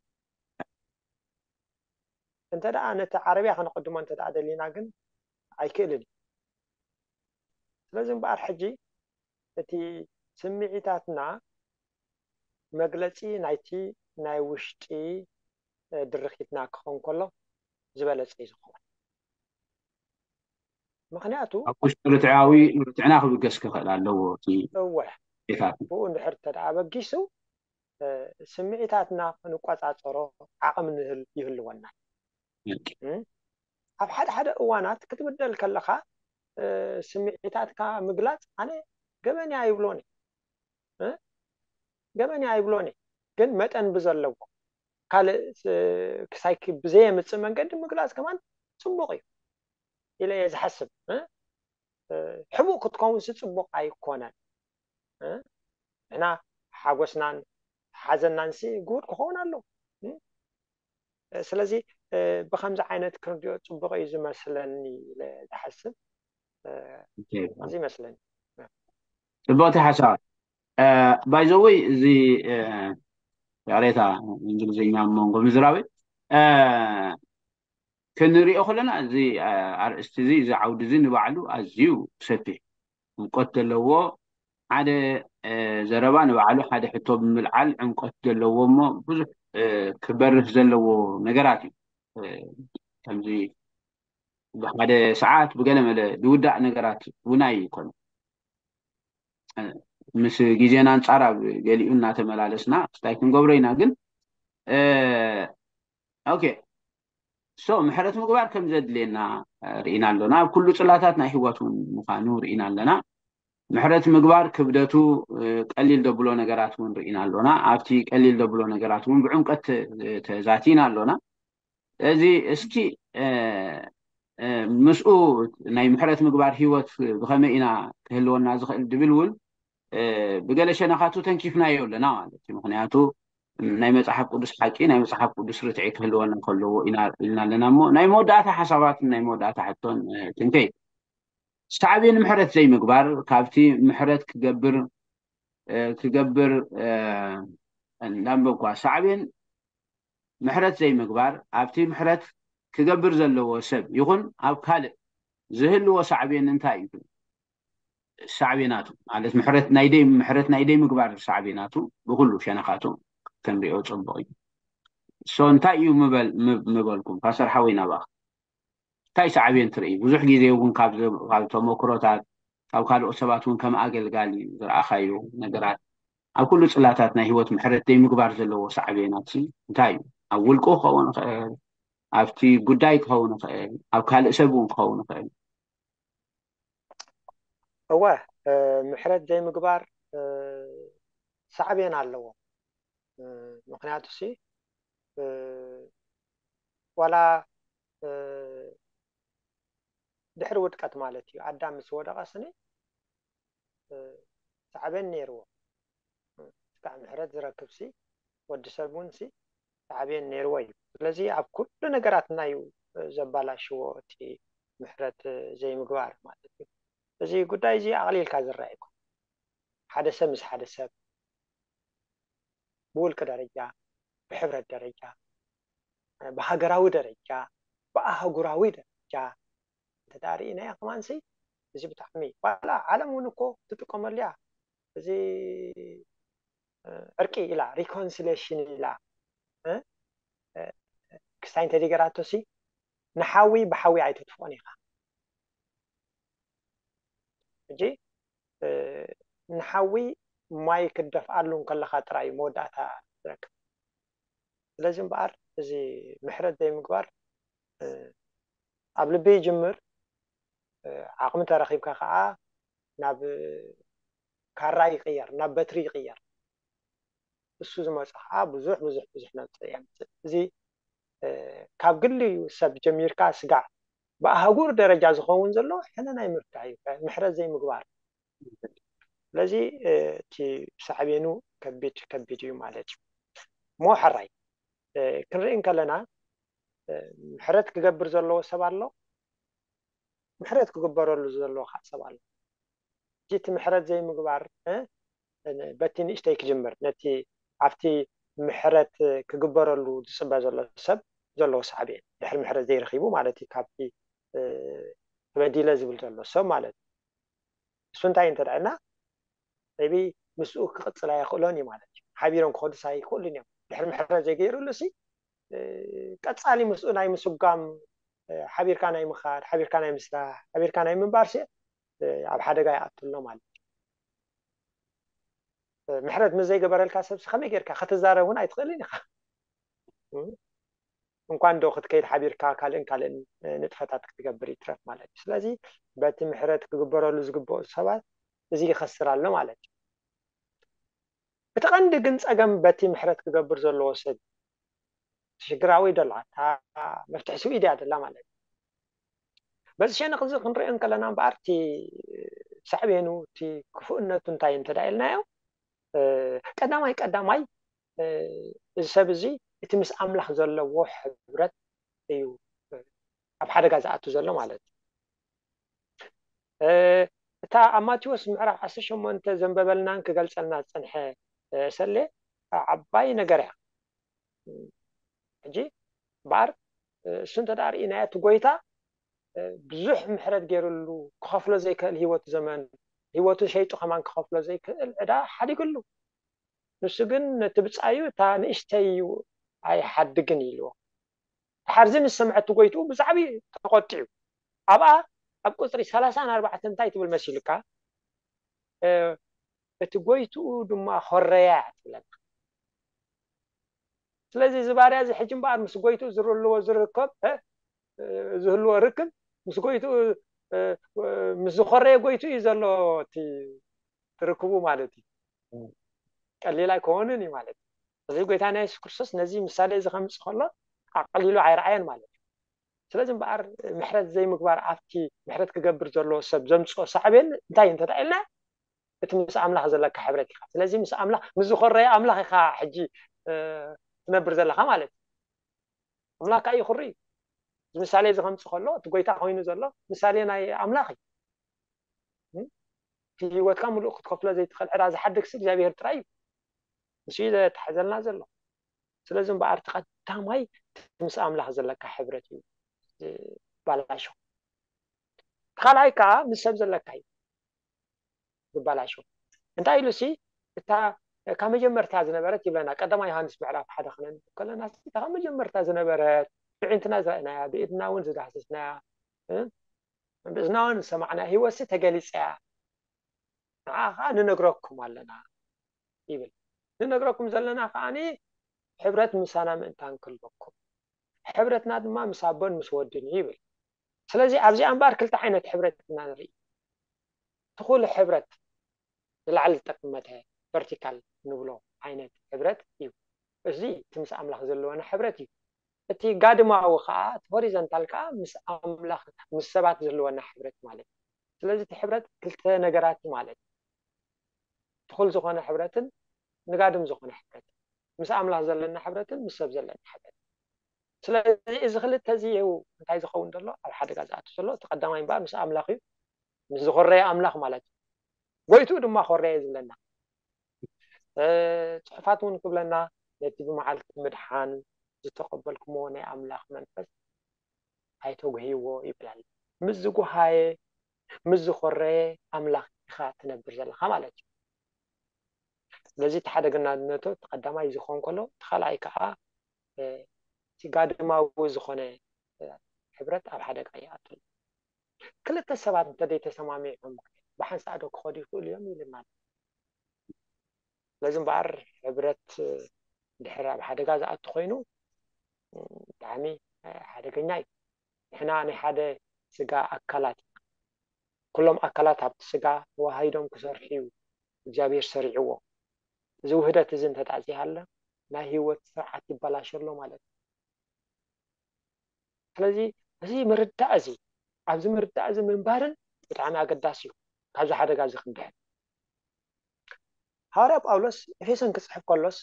እንተ ደኣ ነቲ ዓረብያ ከነቐድሞ እንተ ደኣ ደሊና ግን ኣይክእልን እዩ። ስለዚ እምበኣር ሕጂ እቲ ስምዒታትና መግለጺ ናይቲ ናይ ውሽጢ ድርኺትና ክኸውን ከሎ ዝበለጸ እዩ ዝኸውን። ምክንያቱ ኣብ ውሽጢ ርትዓዊ ርትዕና ክብገስ ክኽእል ኣለዎ። እቲ እወ ጌታት ብኡ እንድሕር ተደኣ በጊሱ ስምዒታትና ክንቆጻጸሮ ዓቕሚ ንህል ይህልወና። ኣብ ሓደ ሓደ እዋናት ክትብደል ከለኻ ስምዒታትካ ምግላጽ ኣነ ገበን እያ ኣይብሎን እየ። ገበን እያ ኣይብሎን እየ። ግን መጠን ብዘለዎ ካልእ ክሳይ ብዘየምጽእ መንገዲ ምግላጽ ከማን ጽቡቕ እዩ ኢለ እየ ዝሓስብ። ሕቡእ ክትከውንሲ ጽቡቕ ኣይኮነን። ንሕና ሓጎስናን ሓዘናንሲ ግሁድ ክኸውን ኣለዎ። ስለዚ ብከምዚ ዓይነት ክንሪኦ ጽቡቕ እዩ ዝመስለኒ ኢለ ዝሓስብ። እዚ ይመስለኒ። ጽቡቕቲ ሓሳብ። ባይዘወይ እዚ ያሬታ እንግሊዝኛ መንጎ ምዝራብ ክንሪኦ ከለና እዚ ኣርእስቲ እዚ እዚ ዓውዲ እዚ ንባዕሉ ኣዝዩ ሰፊሕ ዕምቆት ዘለዎ ሓደ ዘረባ ንባዕሉ ሓደ ሕቶ ብምልዓል ዕምቆት ዘለዎ እሞ ብዙሕ ክበርህ ዘለዎ ነገራት እዩ። ከምዚ ብሓደ ሰዓት ብገለመለ ዝውዳእ ነገራት እውን ኣይኮነ። ምስ ግዜና ኣንጻር ኣብ ገሊኡ እናተመላለስና ስታይ ክንገብሮ ኢና። ግን ኦኬ ሶ ምሕረት ምግባር ከም ዘድልየና ርኢና ኣሎና። ኣብ ኩሉ ጽላታት ናይ ህይወት እውን ምዃኑ ርኢና ኣለና። ምሕረት ምግባር ክብደቱ ቀሊል ደብሎ ነገራት እውን ርኢና ኣሎና። ኣብቲ ቀሊል ደብሎ ነገራት እውን ብዕምቀት ተዛቲና ኣሎና። እዚ እስኪ ምስኡ ናይ ምሕረት ምግባር ህይወት ብኸመይ ኢና ክህልወና ዝኽእል ድብል እውን ብገለ ሸነኻቱ ተንኪፍናዮ ኣለና ማለት እዩ። ምክንያቱ ናይ መጽሓፍ ቅዱስ ሓቂ ናይ መጽሓፍ ቅዱስ ርትዒ ክህልወና ከለዎ ኢና ኢልና ኣለና። እሞ ናይ መወዳእታ ሓሳባትን ናይ መወዳእታ ሕቶን ክንከይ ሳዕቤን ምሕረት ዘይምግባር ካብቲ ምሕረት ክገብር ክገብር እንዳንበብኳ ሳዕቤን ምሕረት ዘይምግባር ኣብቲ ምሕረት ክገብር ዘለዎ ሰብ ይኹን ኣብ ካልእ ዝህልዎ ሳዕቤን እንታይ እዩ? ሳዕቤናቱ ማለት ምሕረት ናይ ደይ ምሕረት ናይ ደይ ምግባር ሳዕቤናቱ ብኩሉ ሸነኻቱ ክንሪኦ ጽቡቕ እዩ። ሶ እንታይ እዩ ምበል ምበልኩም ፓስተር ሓወይ ናባኻ እንታይ ሳዕቤን ትርኢ? ብዙሕ ግዜ እውን ካብ ተመክሮታት ካብ ካልኦት ሰባት እውን ከም ኣገልጋሊ ዝረኣኻዮ ነገራት ኣብ ኩሉ ጽላታት ናይ ህይወት ምሕረት ደይ ምግባር ዘለዎ ሳዕቤናት እንታይ እዩ? ኣብ ውልቁ ክኸውን ይኽእል ኣብቲ ጉዳይ ክኸውን ይኽእል፣ ኣብ ካልእ ሰብ እውን ክኸውን ይኽእል። እወ፣ ምሕረት ዘይምግባር ሳዕቤን ኣለዎ። ምክንያቱ ሲ ዋላ ድሕሪ ውድቀት ማለት እዩ፣ ኣዳም ምስ ወደቐ ስኒ ሳዕቤን ነይርዎ። እስካዕ ምሕረት ዝረክብ ሲ ወዲ ሰብ እውን ሲ ሳዕቤን ነይርዎ እዩ። ስለዚ ኣብ ኩሉ ነገራትና እዩ ዘባላሽዎ እቲ ምሕረት ዘይምግባር ማለት እዩ። እዚ ጉዳይ እዚ ኣቕሊልካ ዝረኣ ይኮን። ሓደ ሰብ ምስ ሓደ ሰብ ብውልቂ ደረጃ፣ ብሕብረት ደረጃ፣ ብሃገራዊ ደረጃ፣ ብኣህጉራዊ ደረጃ እንተ ደኣ ርኢናዮ ከማንሲ እዚ ብጣዕሚ ዋላ ዓለም እውን እኮ ትጥቀመሉ እያ። እዚ ዕርቂ ኢላ ሪኮንሲሌሽን ኢላ ክስታይ እንተደገራቶሲ ንሓዊ ብሓዊ ኣይተጥፍኦን ኢኻ። ሕጂ ንሓዊ ማይ ክደፍኣሉ እንከለኻ ጥራይ መወዳእታ ዝረክብ። ስለዚ እምበኣር እዚ ምሕረት ዘይምግባር ኣብ ልቢ ይጅምር። ዓቕሚ ተረኺብካ ከዓ ናብ ካራ ይቕየር፣ ናብ በትሪ ይቕየር። እሱ ዝመፁ ከዓ ብዙሕ ብዙሕ ብዙሕ ነውፅእ የምፅእ። እዚ ካብ ግሊ ሰብ ጀሚርካ ስጋዕ ብኣህጉር ደረጃ ዝኸውን ዘሎ ሕነ ናይ ምፍዳይ እዩ፣ ምሕረት ዘይምግባር። ስለዚ እቲ ሳዕቤኑ ከቢድ ከቢድ እዩ ማለት እዩ። እሞ ሕራይ ክንርኢ እንከለና ምሕረት ክገብር ዘለዎ ሰብ ኣሎ፣ ምሕረት ክግበረሉ ዘለዎ ከዓ ሰብ ኣሎ። እቲ ምሕረት ዘይምግባር በቲ ንእሽተይ ክጅምር፣ ነቲ ኣብቲ ምሕረት ክግበረሉ ዝፅበ ዘሎ ሰብ ዘለዎ ሳዕቤን፣ ድሕሪ ምሕረት ዘይረኺቡ ማለት እዩ፣ ካብቲ ተበዲለ ዝብል ዘሎ ሰብ ማለት እዩ። እሱ እንታይ እንተ ደኣ ኢልና ቢ ምስኡ ክቕፅል ኣይኽእሎን እዩ ማለት እዩ። ሓቢሮም ክኸዱስ ኣይኽእሉን እዮም። ድሕሪ ምሕረት ዘይገይሩሉ ሲ ቀፃሊ ምስኡ ናይ ምስጓም፣ ሓቢርካ ናይ ምኻድ፣ ሓቢርካ ናይ ምስራሕ፣ ሓቢርካ ናይ ምንባር ሲ ኣብ ሓደጋ ይኣቱ ኣሎ ማለት እዩ። ምሕረት ምስ ዘይገበረልካ ሰብ ከመይ ጌርካ ክትዛረብ እውን ኣይትኽእልን ኢኻ። እንኳን ዶ ክትከይድ ሓቢርካ ካልእን ካልእን ንጥፈታት ክትገብር ይትረፍ ማለት እዩ። ስለዚ በቲ ምሕረት ክግበረሉ ዝግብኦ ሰባት እዚ ይኸስር ኣሎ ማለት እዩ። እቲ ቀንዲ ግን ፀገም በቲ ምሕረት ክገብር ዘለዎ ሰብ ሽግራዊ ደላ እታ መፍትሒ ስዊድ እያ ደላ ማለት እዩ። በዚ ሸነኽ እዚ ክንሪኦ እንከለና እምበኣር እቲ ሳዕቤኑ እቲ ክፉእነቱ እንታይ እንተ ኢልናዮ ቀዳማይ ቀዳማይ እዚ ሰብ እዚ እቲ ምስ ኣምላኽ ዘለዎ ሕብረት እዩ ኣብ ሓደጋ ዝኣቱ ዘሎ ማለት እዩ። እታ ኣብ ማቴዎስ ምዕራፍ ዓሰርተ ሸሞንተ ዘንበበልናን ክገልጸልና ዝጸንሐ ሰሌ ዓባይ ነገር እያ። ሕጂ እምበኣር እሱ እንተ ደኣ ርኢናዮ እቲ ጎይታ ብዙሕ ምሕረት ገይሩሉ ክኸፍሎ ዘይክእል ህይወቱ ዘመን ህይወቱ ሸይጡ ከማን ክኸፍሎ ዘይክእል ዕዳ ሓዲግሉ። ንሱ ግን ነቲ ብጻዩ እታ ንእሽተይ እዩ ኣይሓድግን ኢልዎ። ድሓር እዚ ምስ ሰምዐ እቲ ጎይትኡ ብዛዕባ ተቆጢዑ ኣብኣ ኣብ ቁፅሪ ሰላሳን ኣርባዕተን እንታይ ትብል መሲልካ እቲ ጎይትኡ ድማ ኮረያ እያ ትብለና። ስለዚ እዚ ባርያ እዚ ሕጂ እምበኣር ምስ ጎይትኡ ዝህልዎ ዝርከብ ዝህልዎ ርክብ ምስ ጎይትኡ ምስ ዝኾረየ ጎይትኡ እዩ ዘሎ እቲ ርክቡ ማለት እዩ። ቀሊል ኣይኮንን እዩ ማለት እዩ። እዚ ጎይታና የሱስ ክርስቶስ ነዚ ምሳሌ እዚ ከምፅእ ከሎ ኣቐሊሉ ኣይረኣየን ማለት እዩ። ስለዚ እምበኣር ምሕረት ዘይምግባር ኣብቲ ምሕረት ክገብር ዘለዎ ሰብ ዘምፅኦ ሳዕቤን እንታይ እንተዳ ኢልና እቲ ምስ ኣምላኽ ዘለካ ሕብረት ኢኻ። ስለዚ ምስ ኣምላኽ ምስ ዝኾረየ ኣምላኽ ኢኻ ሕጂ ትነብር ዘለኻ ማለት እዩ። ኣምላኽ ከዓ ይኹሪ እዩ። እዚ ምሳሌ እዚ ከምፅእ ከሎ እቲ ጎይታ ኮይኑ ዘሎ ምሳሌ ናይ ኣምላኽ እዩ። እቲ ህይወትካ ምሉእ ክትከፍሎ ዘይትኽእል ዕዳ ዝሓድግ ሲ እግዚኣብሔር ጥራይ እዩ። ንሱ እዩ ዘተሓዘልና ዘሎ። ስለዚ እምበኣር እቲ ቀዳማይ ምስ ኣምላኽ ዘለካ ሕብረት እዩ ዝባላሾ። እቲ ካልኣይ ከዓ ምስ ሰብ ዘለካ እዩ ዝባላሾ። እንታይ ኢሉ ሲ እታ ካብ መጀመርታ ዝነበረት ይብለና ቀዳማይ ዮሃንስ ምዕራፍ ሓደ ክነንብብ ከለና እታ ካብ መጀመርታ ዝነበረት ብዒንትና ዝረእናያ ብኢድና እውን ዝዳህሰስናያ ብእዝናውን ዝሰማዕና ህይወትሲ ተገሊፀያ ንዓ ከዓ ንነግረኩም ኣለና ይብል። ንነግረኩም ዘለና ከዓኒ ሕብረት ምሳና ምእንታን ክህልወኩም ሕብረትና ድማ ምስ ኣቦን ምስ ወድን እዩ ይብል። ስለዚ ኣብዚኣ እምበኣር ክልተ ዓይነት ሕብረት ኢና ንርኢ። ትኹል ሕብረት ንላዕሊ ዝጠመተ ቨርቲካል ንብሎ ዓይነት ሕብረት እዩ። እዚ እቲ ምስ ኣምላኽ ዘለወና ሕብረት እዩ። እቲ ጋድማዊ ከዓ እቲ ሆሪዘንታል ከዓ ምስ ኣምላኽ ምስ ሰባት ዘለወና ሕብረት ማለት እዩ። ስለዚ እቲ ሕብረት ክልተ ነገራት ማለት እዩ። ትኹል ዝኾነ ሕብረትን ንጋድም ዝኾነ ሕብረት፣ ምስ ኣምላኽ ዘለና ሕብረትን ምስ ሰብ ዘለና ሕብረት። ስለዚ እዚ ክልተ እዚ እዩ እንታይ ዝኸውን ዘሎ ኣብ ሓደጋ ዝኣቱ ዘሎ። እቲ ቀዳማይ እምበኣር ምስ ኣምላኽ እዩ፣ ምስ ዝኾረየ ኣምላኽ ማለት እዩ። ጎይትኡ ድማ ኮረየ ዝብለና እ፣ ጽሑፋት እውን ክብለና ነቲ ብመዓልቲ ምድሓን ዝተቐበልኩሞ ናይ ኣምላኽ መንፈስ ኣይተጉህይዎ ይብል ኣሎ። ምስ ዝጉሃየ ምስ ዝኾረየ ኣምላኽ ኢኻ ትነብር ዘለኻ ማለት እዩ። ስለዚ እቲ ሓደገናነቱ እቲ ቀዳማይ ዝኸውን ከሎ እቲ ካልኣይ ከዓ እ፣ እቲ ጋድማዊ ዝኾነ እ፣ ሕብረት ኣብ ሓደጋ ይኣቱ። ክልተ ሰባት እንተዘይተሰማሚዖም ብሓንሳእ ዶ ክኸዱ ይኽእሉ እዮም ይብልና ኣሎ። ስለዚ እምበኣር ሕብረት ድሕር ኣብ ሓደጋ ዝኣቱ ኮይኑ ብጣዕሚ ሓደገኛ እዩ። ንሕና ናይ ሓደ ስጋ ኣካላት ኢና። ኩሎም ኣካላት ኣብቲ ስጋ ተዋሃሂዶም ክሰርሑ እዩ እግዚኣብሔር ሰሪዕዎ። እዚ ውህደት እዚ እንተዳኣ ዘይሃለ ናይ ህይወት ስርዓት ይበላሸ ኣሎ ማለት እዩ። ስለዚ እዚ ምርዳእ እዚ ኣብዚ ምርዳእ እዚ ምንባርን ብጣዕሚ ኣገዳሲ እዩ። ካብዚ ሓደጋ እዚ ክንድሕን ሃዋርያ ጳውሎስ ኤፌሶን ክፅሕፍ ከሎስ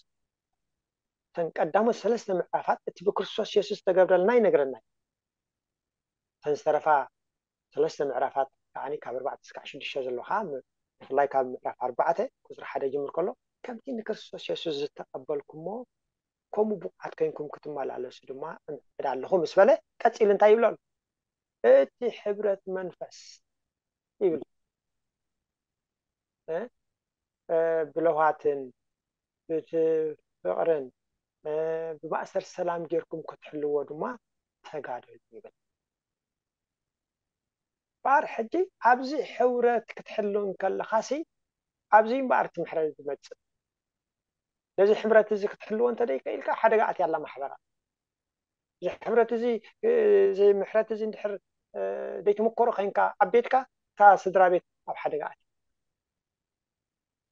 እተን ቀዳሞት ሰለስተ ምዕራፋት እቲ ብክርስቶስ የሱስ ዝተገብረልና ይነግረና እዩ። እተን ዝተረፋ ሰለስተ ምዕራፋት ከዓ ካብ ኣርባዕተ እስካዕ ሽዱሽተ ዘሎ ከዓ ብፍላይ ካብ ምዕራፍ ኣርባዕተ ቁፅሪ ሓደ ጅምር ከሎ ከምቲ ንክርስቶስ የሱስ ዝተቐበልኩሞ ከምኡ ብቑዓት ኮይንኩም ክትመላለሱ ድማ እምዕድ ኣለኹ ምስ በለ ቀፂሉ እንታይ ይብሎ ኣሎ? እቲ ሕብረት መንፈስ ይብል እ፣ እ፣ ብለውሃትን ብቲ ፍቕርን እ፣ ብማእሰር ሰላም ጌርኩም ክትሕልዎ ድማ ተጋደሉ ይብል። እምበኣር ሕጂ ኣብዚ ሕብረት ክትሕሉ እንከለኻሲ ኣብዚ እምበኣር እቲ ምሕረት ዝመፅእ ነዚ ሕብረት እዚ ክትሕልዎ እንተደይከኢልካ ሓደጋ ኣትያ ኣላ ማሕበራ። እዚ ሕብረት እዚ እዚ ምሕረት እዚ እንድሕር ዘይትምከሮ ኮይንካ ኣብ ቤትካ እታ ስድራ ቤት ኣብ ሓደጋ ኣትያ።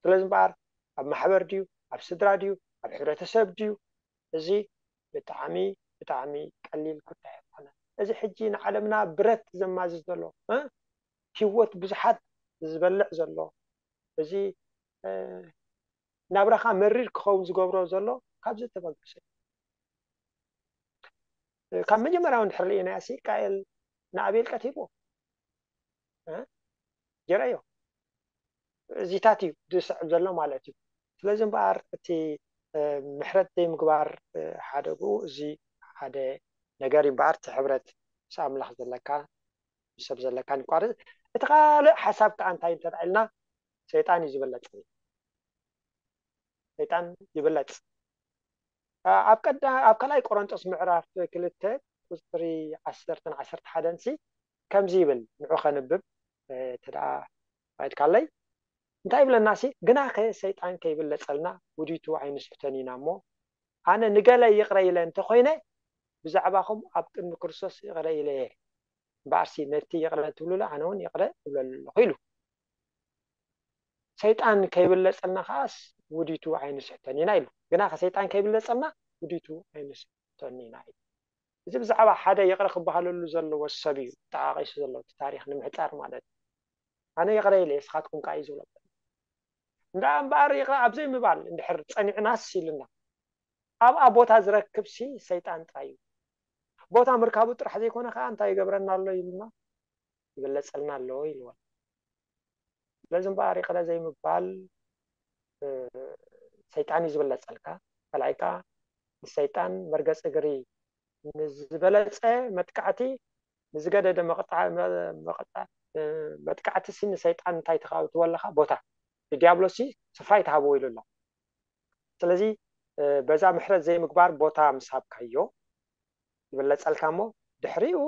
ስለዚ እምበኣር ኣብ ማሕበር ድዩ ኣብ ስድራ ድዩ ኣብ ሕብረተሰብ ድዩ እዚ ብጣዕሚ ብጣዕሚ ቀሊል ጉዳይ ኣይኮነ። እዚ ሕጂ ንዓለምና ብረት ዘማዝዝ ዘሎ እ ህይወት ብዙሓት ዝበልዕ ዘሎ እዚ ናብራኻ መሪር ክኸውን ዝገብሮ ዘሎ ካብዚ ተበገሰ ካብ መጀመርያው እንድሕር ርኢናዮ ሲ ቃኤል ንኣቤል ቀቲልዎ እ ጌረዮ እዚታት እዩ ዝስዕብ ዘሎ ማለት እዩ። ስለዚ እምበኣር እቲ ምሕረት ዘይምግባር ሓደግኡ እዚ ሓደ ነገር እዩ እምበኣር እቲ ሕብረት ምስ ኣምላኽ ዘለካ ምስ ሰብ ዘለካ ይቋረፅ። እቲ ካልእ ሓሳብ ከዓ እንታይ እንተዳ ኢልና ሰይጣን እዩ ዝበለፅ ሰይጣን ይብለፅ ኣብ ቀዳ ኣብ ካልኣይ ቆሮንጦስ ምዕራፍ ክልተ ቁፅሪ ዓሰርተን ዓሰርተ ሓደን ሲ ከምዚ ይብል ንዑ ከንብብ ተደኣ ባይድካለይ እንታይ ይብለና ሲ ግናኸ ሰይጣን ከይብለፀልና ውዲቱ ኣይንስሕተን ኢና እሞ ኣነ ንገለ ይቕረ ኢለ እንተኮይነ ብዛዕባኹም ኣብ ቅድሚ ክርስቶስ ይቕረ ኢለ እየ እምበኣርሲ ነቲ ይቕረ ትብሉሉ ኣነ እውን ይቕረ እብለሉ ኣለኹ ኢሉ ሰይጣን ከይብለፀልና ከዓስ ውዲቱ ኣይንስሕተን ኢና ኢሉ ግና ከሰይጣን ከይብለፀልና ውዲቱ ኣይንስሕተን ኢና ኢሉ እዚ ብዛዕባ ሓደ ይቕረ ክበሃለሉ ዘለዎ ሰብ እዩ ተዓቂሱ ዘሎ እቲ ታሪክ ንምሕፃር ማለት እዩ ኣነ ይቕረ ኢለ እስኻትኩም ከዓ እዩ ዝብሎ እንዳ እምበኣር ይቕረ ኣብዘይ ምባል እንድሕር ፀኒዕናስ ኢሉና ኣብኣ ቦታ ዝረክብ ሲ ሰይጣን ጥራይ እዩ ቦታ ምርካቡ ጥራሕ ዘይኮነ ከዓ እንታይ ይገብረና ኣሎ ኢሉና ይበለፀልና ኣለዎ ኢልዎ። ስለዚ እምበኣር ይቕረ ዘይምባል ሰይጣን እዩ ዝበለፀልካ። ካልኣይ ከዓ ንሰይጣን መርገፂ እግሪ ንዝበለፀ መጥቃዕቲ ንዝገደደ መጥቃዕቲ ሲ ንሰይጣን እንታይ ትኸብትዎ ኣለኻ ቦታ ንዲያብሎስ ሲ ስፍራ ይትሃብዎ ኢሉ ኣሎ። ስለዚ በዛ ምሕረት ዘይምግባር ቦታ ምስ ሃብካዮ ይበለፀልካ እሞ ድሕሪኡ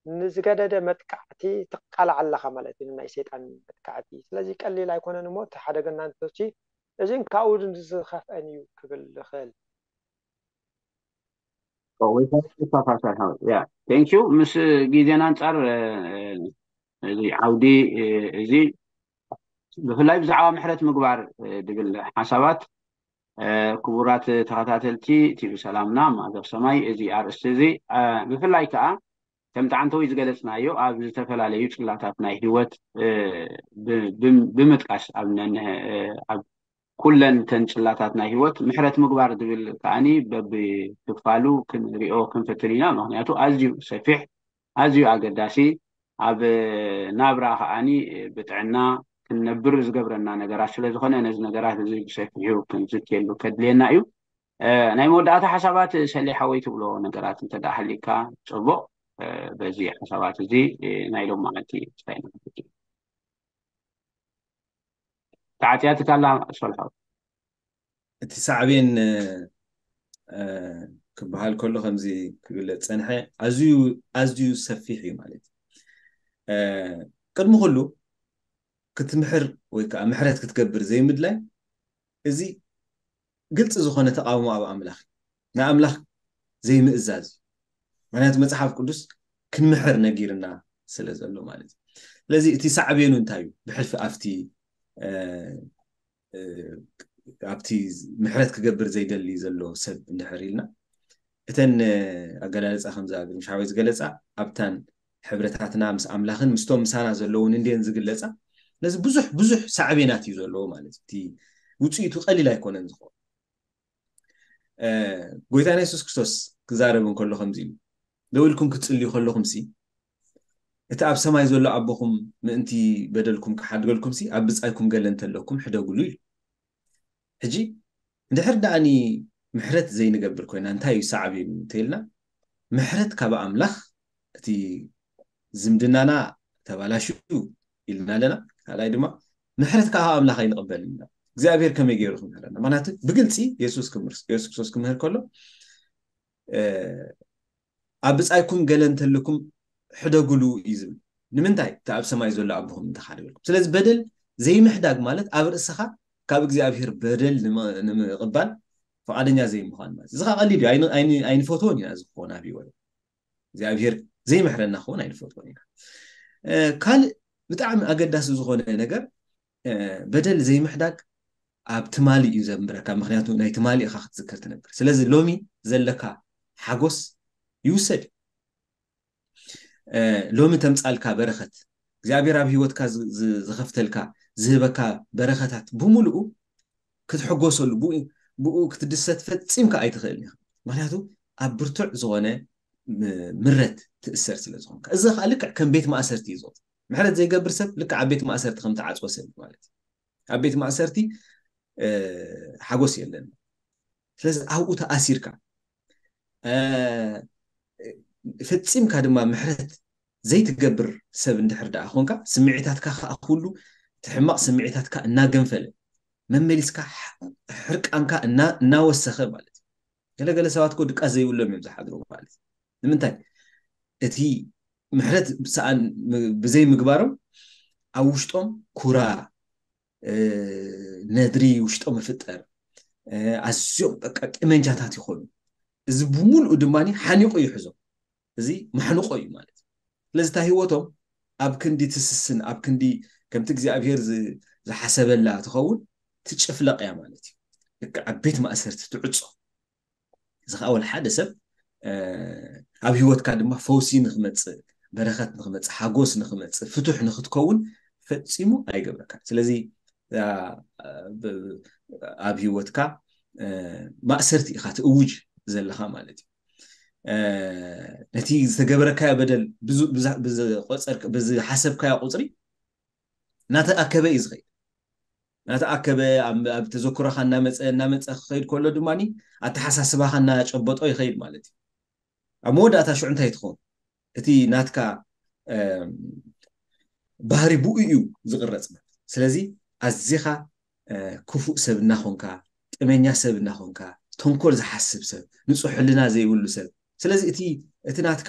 ንዝገደደ መጥቃዕቲ ትቃላዕ ኣለኻ ማለት እዩ ናይ ሰይጣን መጥቃዕቲ ስለዚ ቀሊል ኣይኮነን እሞ እቲ ሓደገና ንቶሲ እዚን ካብኡ ዝኸፍአን እዩ ክብል ዝኽእል ኦ፣ ወይ ከኣ ተፋሳሒ ሓወይ። ያ፣ thank you። ምስ ግዜና ኣንጻር፣ እ፣ እዚ ዓውዲ፣ እ፣ እዚ ብፍላይ ብዛዕባ ምሕረት ምግባር፣ እ፣ ድብል ሓሳባት፣ እ፣ ክቡራት ተኸታተልቲ ቲቪ ሰላምና፣ ማዕዘፍ ሰማይ፣ እዚ ኣርእስቲ እዚ፣ እ፣ ብፍላይ ከኣ ከምቲ ዓንተዊ ዝገለጽናዮ ኣብ ዝተፈላለዩ ጽላታት ናይ ህይወት፣ እ፣ ብ-፣ ብ-፣ ብምጥቃስ ኣብ ነንህ-፣ እ፣ ኣብ ኩለን ተን ጽላታት ናይ ህይወት ምሕረት ምግባር ዝብል ከኣኒ በብክፋሉ ክንሪኦ ክንፍትን ኢና። ምኽንያቱ ኣዝዩ ሰፊሕ፣ ኣዝዩ ኣገዳሲ፣ ኣብ ናብራ ከኣኒ ብጥዕና ክንነብር ዝገብረና ነገራት ስለ ዝኾነ፣ ነዚ ነገራት እዚ ብሰፊሑ ክንዝትየሉ ከድልየና እዩ። እ፣ ናይ መወዳእታ ሓሳባት ሰሌ ሓወይ ትብሎ ነገራት እንተ ደኣ ሃሊካ ጽቡቕ። እ፣ በዚ ሓሳባት እዚ፣ እ፣ ናይ ሎማዓንቲ እንታይ ንብል? ተዓጽያትካ ኣላ ሶል ሓወይ። እቲ ሳዕቤን፣ እ፣ እ፣ ክበሃል ከሎ ከምዚ ክግለጽ ጸንሐ፣ ኣዝዩ፣ ኣዝዩ ሰፊሕ እዩ ማለት እዩ። እ፣ ቅድሚ ኩሉ ክትምሕር ወይ ከዓ ምሕረት ክትገብር ዘይምድላይ፣ እዚ ግልጺ ዝኾነ ተቃውሞ ኣብ ኣምላኽ እዩ። ንኣምላኽ ዘይምእዛዝ እዩ። ምኽንያቱ መጽሓፍ ቅዱስ ክንምሕር ነጊርና ስለ ዘሎ ማለት እዩ። ስለዚ እቲ ሳዕቤኑ እንታይ እዩ? ብሕልፊ ኣብቲ፣ እ፣ እ፣ ኣብቲ ምሕረት ክገብር ዘይደሊ ዘሎ ሰብ እንድሕር ኢልና፣ እተን፣ እ፣ ኣገላልጻ ከምዛ ግርምሽ ሓወይ ዝገለጻ፣ ኣብታን ሕብረታትና ምስ ኣምላኽን ምስቶም ምሳና ዘለውን እንድየን ዝግለጻ፣ ነዚ ብዙሕ፣ ብዙሕ ሳዕቤናት እዩ ዘለዎ ማለት እዩ። እቲ ውጽኢቱ ቀሊል ኣይኮነን ዝኸውን። እ፣ ጎይታና የሱስ ክርስቶስ ክዛረብ እንከሎ ከምዚ ኢሉ፣ "ደው ኢልኩም ክትጽልዩ ከለኹምሲ፣ እቲ ኣብ ሰማይ ዘሎ ኣቦኹም ምእንቲ በደልኩም ክሓድገልኩምሲ፣ ኣብ ብጻይኩም ገለ እንተለኩም ሕደጉሉ" ኢሉ። ሕጂ እንድሕር ደኣኒ ምሕረት ዘይንገብር ኮይና እንታይ እዩ ሳዕቤኑ እንተኢልና፣ ምሕረት ካብ ኣምላኽ፣ እቲ ዝምድናና ተባላሽዩ ኢልና ኣለና። ካልኣይ ድማ ምሕረት ካብ ኣምላኽ ኣይንቕበልን ኢና። እግዚኣብሔር ከመይ ገይሩ ክምህረና? ምኽንያቱ ብግልጺ የሱስ ክምህር-፣ የሱስ ክርስቶስ ክምህር ከሎ፣ እ፣ "ኣብ ብጻይኩም ገለ እንተልኩም ሕደጉሉ" እዩ ዝብል። ንምንታይ? እቲ ኣብ ሰማይ ዘሎ ኣቦኹም እንተሓደገልኩም። ስለዚ በደል ዘይምሕዳግ ማለት ኣብ ርእስኻ ካብ እግዚኣብሔር በደል ንመ-፣ ንምቕባል ፍቓደኛ ዘይምዃን ማለት። እዚ ኸዓ ቀሊል እዩ። ኣይን-፣ ኣይን-፣ ኣይንፈትዎን ኢና እዚ ክኾን ኣብ ህይወት። እግዚኣብሔር ዘይምሕረና ክኾን ኣይንፈትዎን ኢና። እ፣ ካልእ ብጣዕሚ ኣገዳሲ ዝኾነ ነገር፣ እ፣ በደል ዘይምሕዳግ ኣብ ትማሊ እዩ ዘንብረካ። ምኽንያቱ ናይ ትማሊ ኢኻ ክትዝክር ትነብር። ስለዚ ሎሚ ዘለካ ሓጎስ ይውሰድ። እ፣ ሎሚ ተምጻልካ በረኸት፣ እግዚኣብሔር ኣብ ህይወትካ ዝ-፣ ዝ-፣ ዝኸፍተልካ፣ ዝህበካ በረኸታት ብምሉኡ ክትሕጎሰሉ፣ ብኡ፣ ብኡ ክትድሰት ፈጺምካ ኣይትኽእልን ኢኻ። ምኽንያቱ ኣብ ብርቱዕ ዝኾነ ም-፣ ምረት ትእሰር ስለ ዝኾንካ። እዚ ኸዓ ልክዕ ከም ቤት ማእሰርቲ እዩ ዝቑጸር። ምሕረት ዘይገብር ሰብ ልክዕ ኣብ ቤት ማእሰርቲ ከም ተዓጽወ ሰብ እዩ ማለት እዩ። ኣብ ቤት ማእሰርቲ፣ እ፣ ሓጎስ የለን። ስለዚ ኣብኡ ተኣሲርካ፣ እ፣ ፈጺምካ ድማ ምሕረት ዘይትገብር ሰብ እንድሕር ደኣ ኾንካ፣ ስምዒታትካ ኸዓ ኩሉ እቲ ሕማቕ ስምዒታትካ እናገንፈለ፣ መመሊስካ ሕ-፣ ሕርቃንካ እና-፣ እናወሰኸ ማለት እዩ። ገለገለ ሰባት እኮ ድቃስ ዘይብሎም እዮም ዝሓድሩ ማለት እዩ። ንምንታይ? እቲ ምሕረት ሰኣን ም-፣ ብዘይምግባሮም ኣብ ውሽጦም ኩራ፣ እ፣ ነድሪ ውሽጦም ይፍጠር። እ፣ ኣዝዮም በቃ ቂመንጃታት ይኾኑ። እዚ ብምሉኡ ድማ ሓኒቑ ይሕዞም። እዚ ማሕንቆ እዩ ማለት እዩ። ስለዚ እታ ህይወቶም ኣብ ክንዲ ትስስን፣ ኣብ ክንዲ ከምቲ እግዚኣብሔር ዝ-፣ ዝሓሰበላ ትኸውን፣ ትጭፍለቕ እያ ማለት እዩ። ልክዕ ኣብ ቤት ማእሰርቲ ትዕጾ። እዚ ኸዓ ወላ ሓደ ሰብ፣ እ፣ ኣብ ህይወትካ ድማ ፈውሲ ንኽመጽእ፣ በረኸት ንኽመጽእ፣ ሓጎስ ንኽመጽእ፣ ፍቱሕ ንኽትከውን ፈጺሙ ኣይገብረካን። ስለዚ፣ እ፣ ብ-፣ ኣብ ህይወትካ፣ እ፣ ማእሰርቲ ኢኻ ትእውጅ ዘለኻ ማለት እዩ። እ፣ ነቲ ዝተገበረካዮ በደል ብዝ-፣ ብዛ-፣ ብዝቆጸርክ-፣ ብዝሓሰብካዮ ቁጽሪ እናተኣከበ እዩ ዝኸይድ። እናተኣከበ ኣብ፣ ኣብ ተዘክሮኻ እናመጸ፣ እናመጸ ክኸይድ ከሎ ድማ ኣተሓሳስባኻ እናጨበጦ ይኸይድ ማለት እዩ። ኣብ መወዳእታ ሽዑ እንታይ ትኸውን? እቲ ናትካ፣ እም፣ ባህሪ ብኡ እዩ ዝቕረጽ ማለት እዩ። ስለዚ ኣዚኻ፣ እ፣ ክፉእ ሰብ እናኾንካ፣ ቂመኛ ሰብ እናኾንካ፣ ተንኮል ዝሓስብ ሰብ፣ ንጹህ ሕልና ዘይብሉ ሰብ። ስለዚ እቲ፣ እቲ ናትካ፣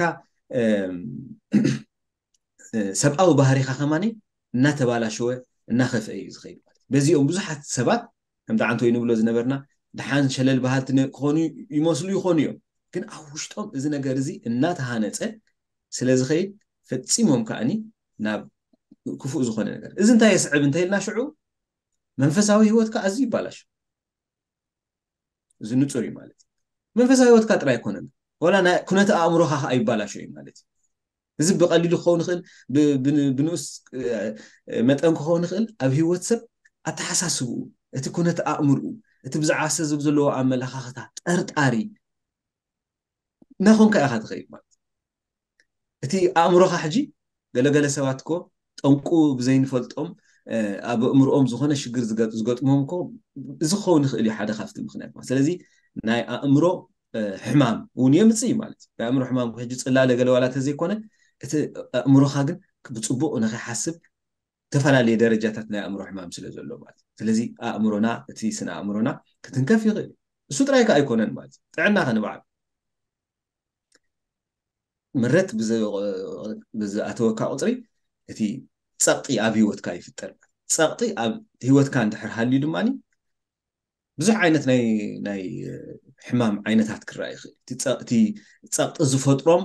እም፣ እ፣ ሰብኣዊ ባህሪኻ ከማኒ እናተባላሸወ፣ እናኸፍአ እዩ ዝኸይድ ማለት እዩ። በዚኦም ብዙሓት ሰባት ከምቲ ዓንቶይ ንብሎ ዝነበርና ደሓን ሸለል በሃልቲ ነ-፣ ክኾኑ ይመስሉ ይኾኑ እዮም። ግን ኣብ ውሽጦም እዚ ነገር እዚ እናተሃነፀ ስለ ዝኸይድ ፈፂሞም ከኣኒ ናብ ክፉእ ዝኾነ ነገር። እዚ እንታይ የስዕብ እንተኢልና ሽዑ መንፈሳዊ ህይወትካ ኣዝዩ ይባላሽ። እዚ ንጹር እዩ ማለት እዩ። መንፈሳዊ ህይወትካ ጥራይ ኣይኮነን፣ ወላ ናይ ኩነተ ኣእምሮኻ ከዓ ይባላሾ እዩ ማለት እዩ። እዚ ብቐሊሉ ክኸውን ይኽእል፣ ብ- ብ- ብንኡስ መጠን ክኸውን ይኽእል። ኣብ ህይወት ሰብ ኣተሓሳስብኡ፣ እቲ ኩነተ ኣእምርኡ፣ እቲ ብዛዕባ ሰብ ዘለዎ ኣመለኻኽታ፣ ጠርጣሪ እናኾንካ ኢኻ ትኸይድ ማለት እዩ። እቲ ኣእምሮኻ ሕጂ ገለገለ ሰባት እኮ ጠንቁ ብዘይንፈልጦም ኣብ ኣእምሮኦም ዝኾነ ሽግር ዝገጥሞም እኮ እዚ ክኸውን ይኽእል እዩ ሓደ ካብቲ ምክንያት ማለት። ስለዚ ናይ ኣእምሮ ሕማም እውን የምፅእ እዩ ማለት እዩ። ናይ ኣእምሮ ሕማም ሕጂ ፅላለ ገለ ዋላ ተዘይኮነ እቲ ኣእምሮኻ ግን ብፅቡቅ ንኸይሓስብ ዝተፈላለየ ደረጃታት ናይ ኣእምሮ ሕማም ስለ ዘሎ ማለት እዩ። ስለዚ ኣእምሮና እቲ ስነ ኣእምሮና ክትንከፍ ይኽእል እዩ። እሱ ጥራይ ከዓ ኣይኮነን ማለት እዩ። ጥዕና ከንበዓል ምረት ብዝኣተወካ ቁፅሪ እቲ ፀቕጢ ኣብ ህይወትካ ይፍጠር። ፀቕጢ ኣብ ህይወትካ እንድሕር ሃልዩ ድማ ብዙሕ ዓይነት ናይ ናይ ሕማም ዓይነታት ክረኣ ይኽእል። እቲ ፀቕጢ ዝፈጥሮም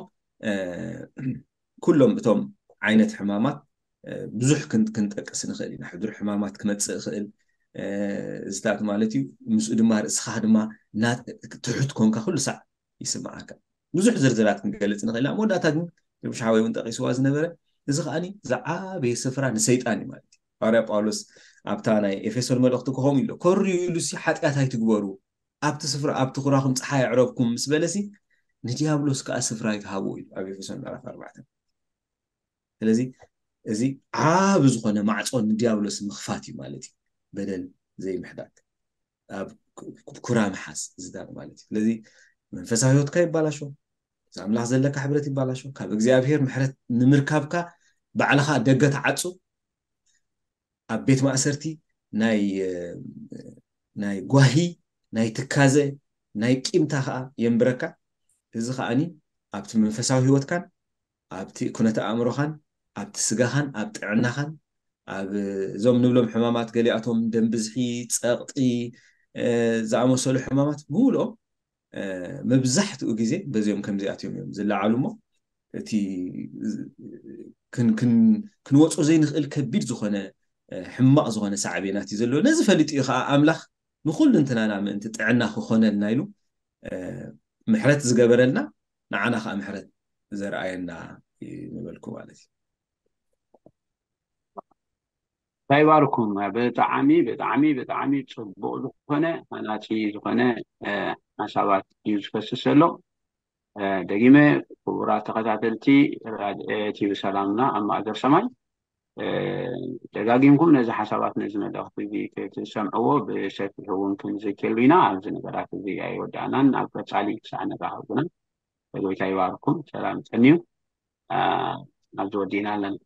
ኩሎም እቶም ዓይነት ሕማማት ብዙሕ ክንጠቅስ ንኽእል ኢና። ሕዱር ሕማማት ክመፅእ ይኽእል እዚታት ማለት እዩ። ምስኡ ድማ ርእስኻ ድማ ትሑት ኮንካ ኩሉ ሳዕ ይስምዓካ። ብዙሕ ዝርዝራት ክንገልፅ ንኽእል ኢና። መወዳእታ ግን ርብሻ ሓወይ እውን ጠቂስዋ ዝነበረ እዚ ከዓኒ ዝዓበየ ስፍራ ንሰይጣን እዩ ማለት እዩ። ባርያ ጳውሎስ ኣብታ ናይ ኤፌሶን መልእኽቲ ክኸም ኢሎ ኮርዩ ኢሉ ሲ ሓጢኣት ኣይትግበሩ ኣብቲ ስፍራ ኣብቲ ኩራኹም ፀሓይ ኣዕረብኩም ምስ በለሲ ንዲያብሎስ ከዓ ስፍራ ኣይትሃቡ እዩ ኣብ ኤፌሶን ምዕራፍ ኣርባዕተ። ስለዚ እዚ ዓብ ዝኾነ ማዕፆ ንዲያብሎስ ምኽፋት እዩ ማለት እዩ። በደል ዘይምሕዳግ ኣብ ኩራ ምሓዝ ዝዳግ ማለት እዩ። ስለዚ መንፈሳዊ ህይወትካ ይባላሾ፣ ምስ ኣምላኽ ዘለካ ሕብረት ይባላሾ፣ ካብ እግዚኣብሔር ምሕረት ንምርካብካ ባዕልኻ ደገ ተዓፁ። ኣብ ቤት ማእሰርቲ ናይ ናይ ጓሂ ናይ ትካዘ ናይ ቂምታ ከዓ የንብረካ። እዚ ከዓኒ ኣብቲ መንፈሳዊ ህይወትካን ኣብቲ ኩነተ ኣእምሮኻን ኣብቲ ስጋኻን ኣብ ጥዕናኻን ኣብ እዞም ንብሎም ሕማማት ገሊኣቶም ደም ብዝሒ፣ ፀቕጢ ዝኣመሰሉ ሕማማት ብምልኦም መብዛሕትኡ ግዜ በዚኦም ከምዚኣትዮም እዮም ዝለዓሉ እሞ እቲ ክንወፆ ዘይንኽእል ከቢድ ዝኾነ ሕማቕ ዝኾነ ሳዕቤናት እዩ ዘለዎ። ነዚ ፈሊጡ እዩ ከዓ ኣምላኽ ንኩሉ እንትናና ምእንቲ ጥዕና ክኾነልና ኢሉ ምሕረት ዝገበረልና ንዓና ከዓ ምሕረት ዘርኣየና ይንበልኩ ማለት እዩ። እንታይ ባርኩም ብጣዕሚ ብጣዕሚ ብጣዕሚ ፅቡቅ ዝኾነ ሃናፂ ዝኾነ ሓሳባት እዩ ዝፈስስ ዘሎ። ደጊመ ክቡራት ተኸታተልቲ ራድኤ ቲቪ ሰላምና ኣብ ማእገር ሰማይ ደጋጊምኩም ነዚ ሓሳባት ነዚ መልእኽቲ እዚ ክትሰምዕዎ ብሰፊሑ እውን ክንዝክየሉ ኢና። ኣብዚ ነገራት እዚ ኣይወዳእናን። ኣብ ቀፃሊ ክሳዕ ነራኸብ ግና ጎይታ ይባርኩም። ሰላም ፀንዩ ኣብዚ ወዲእና ኣለና።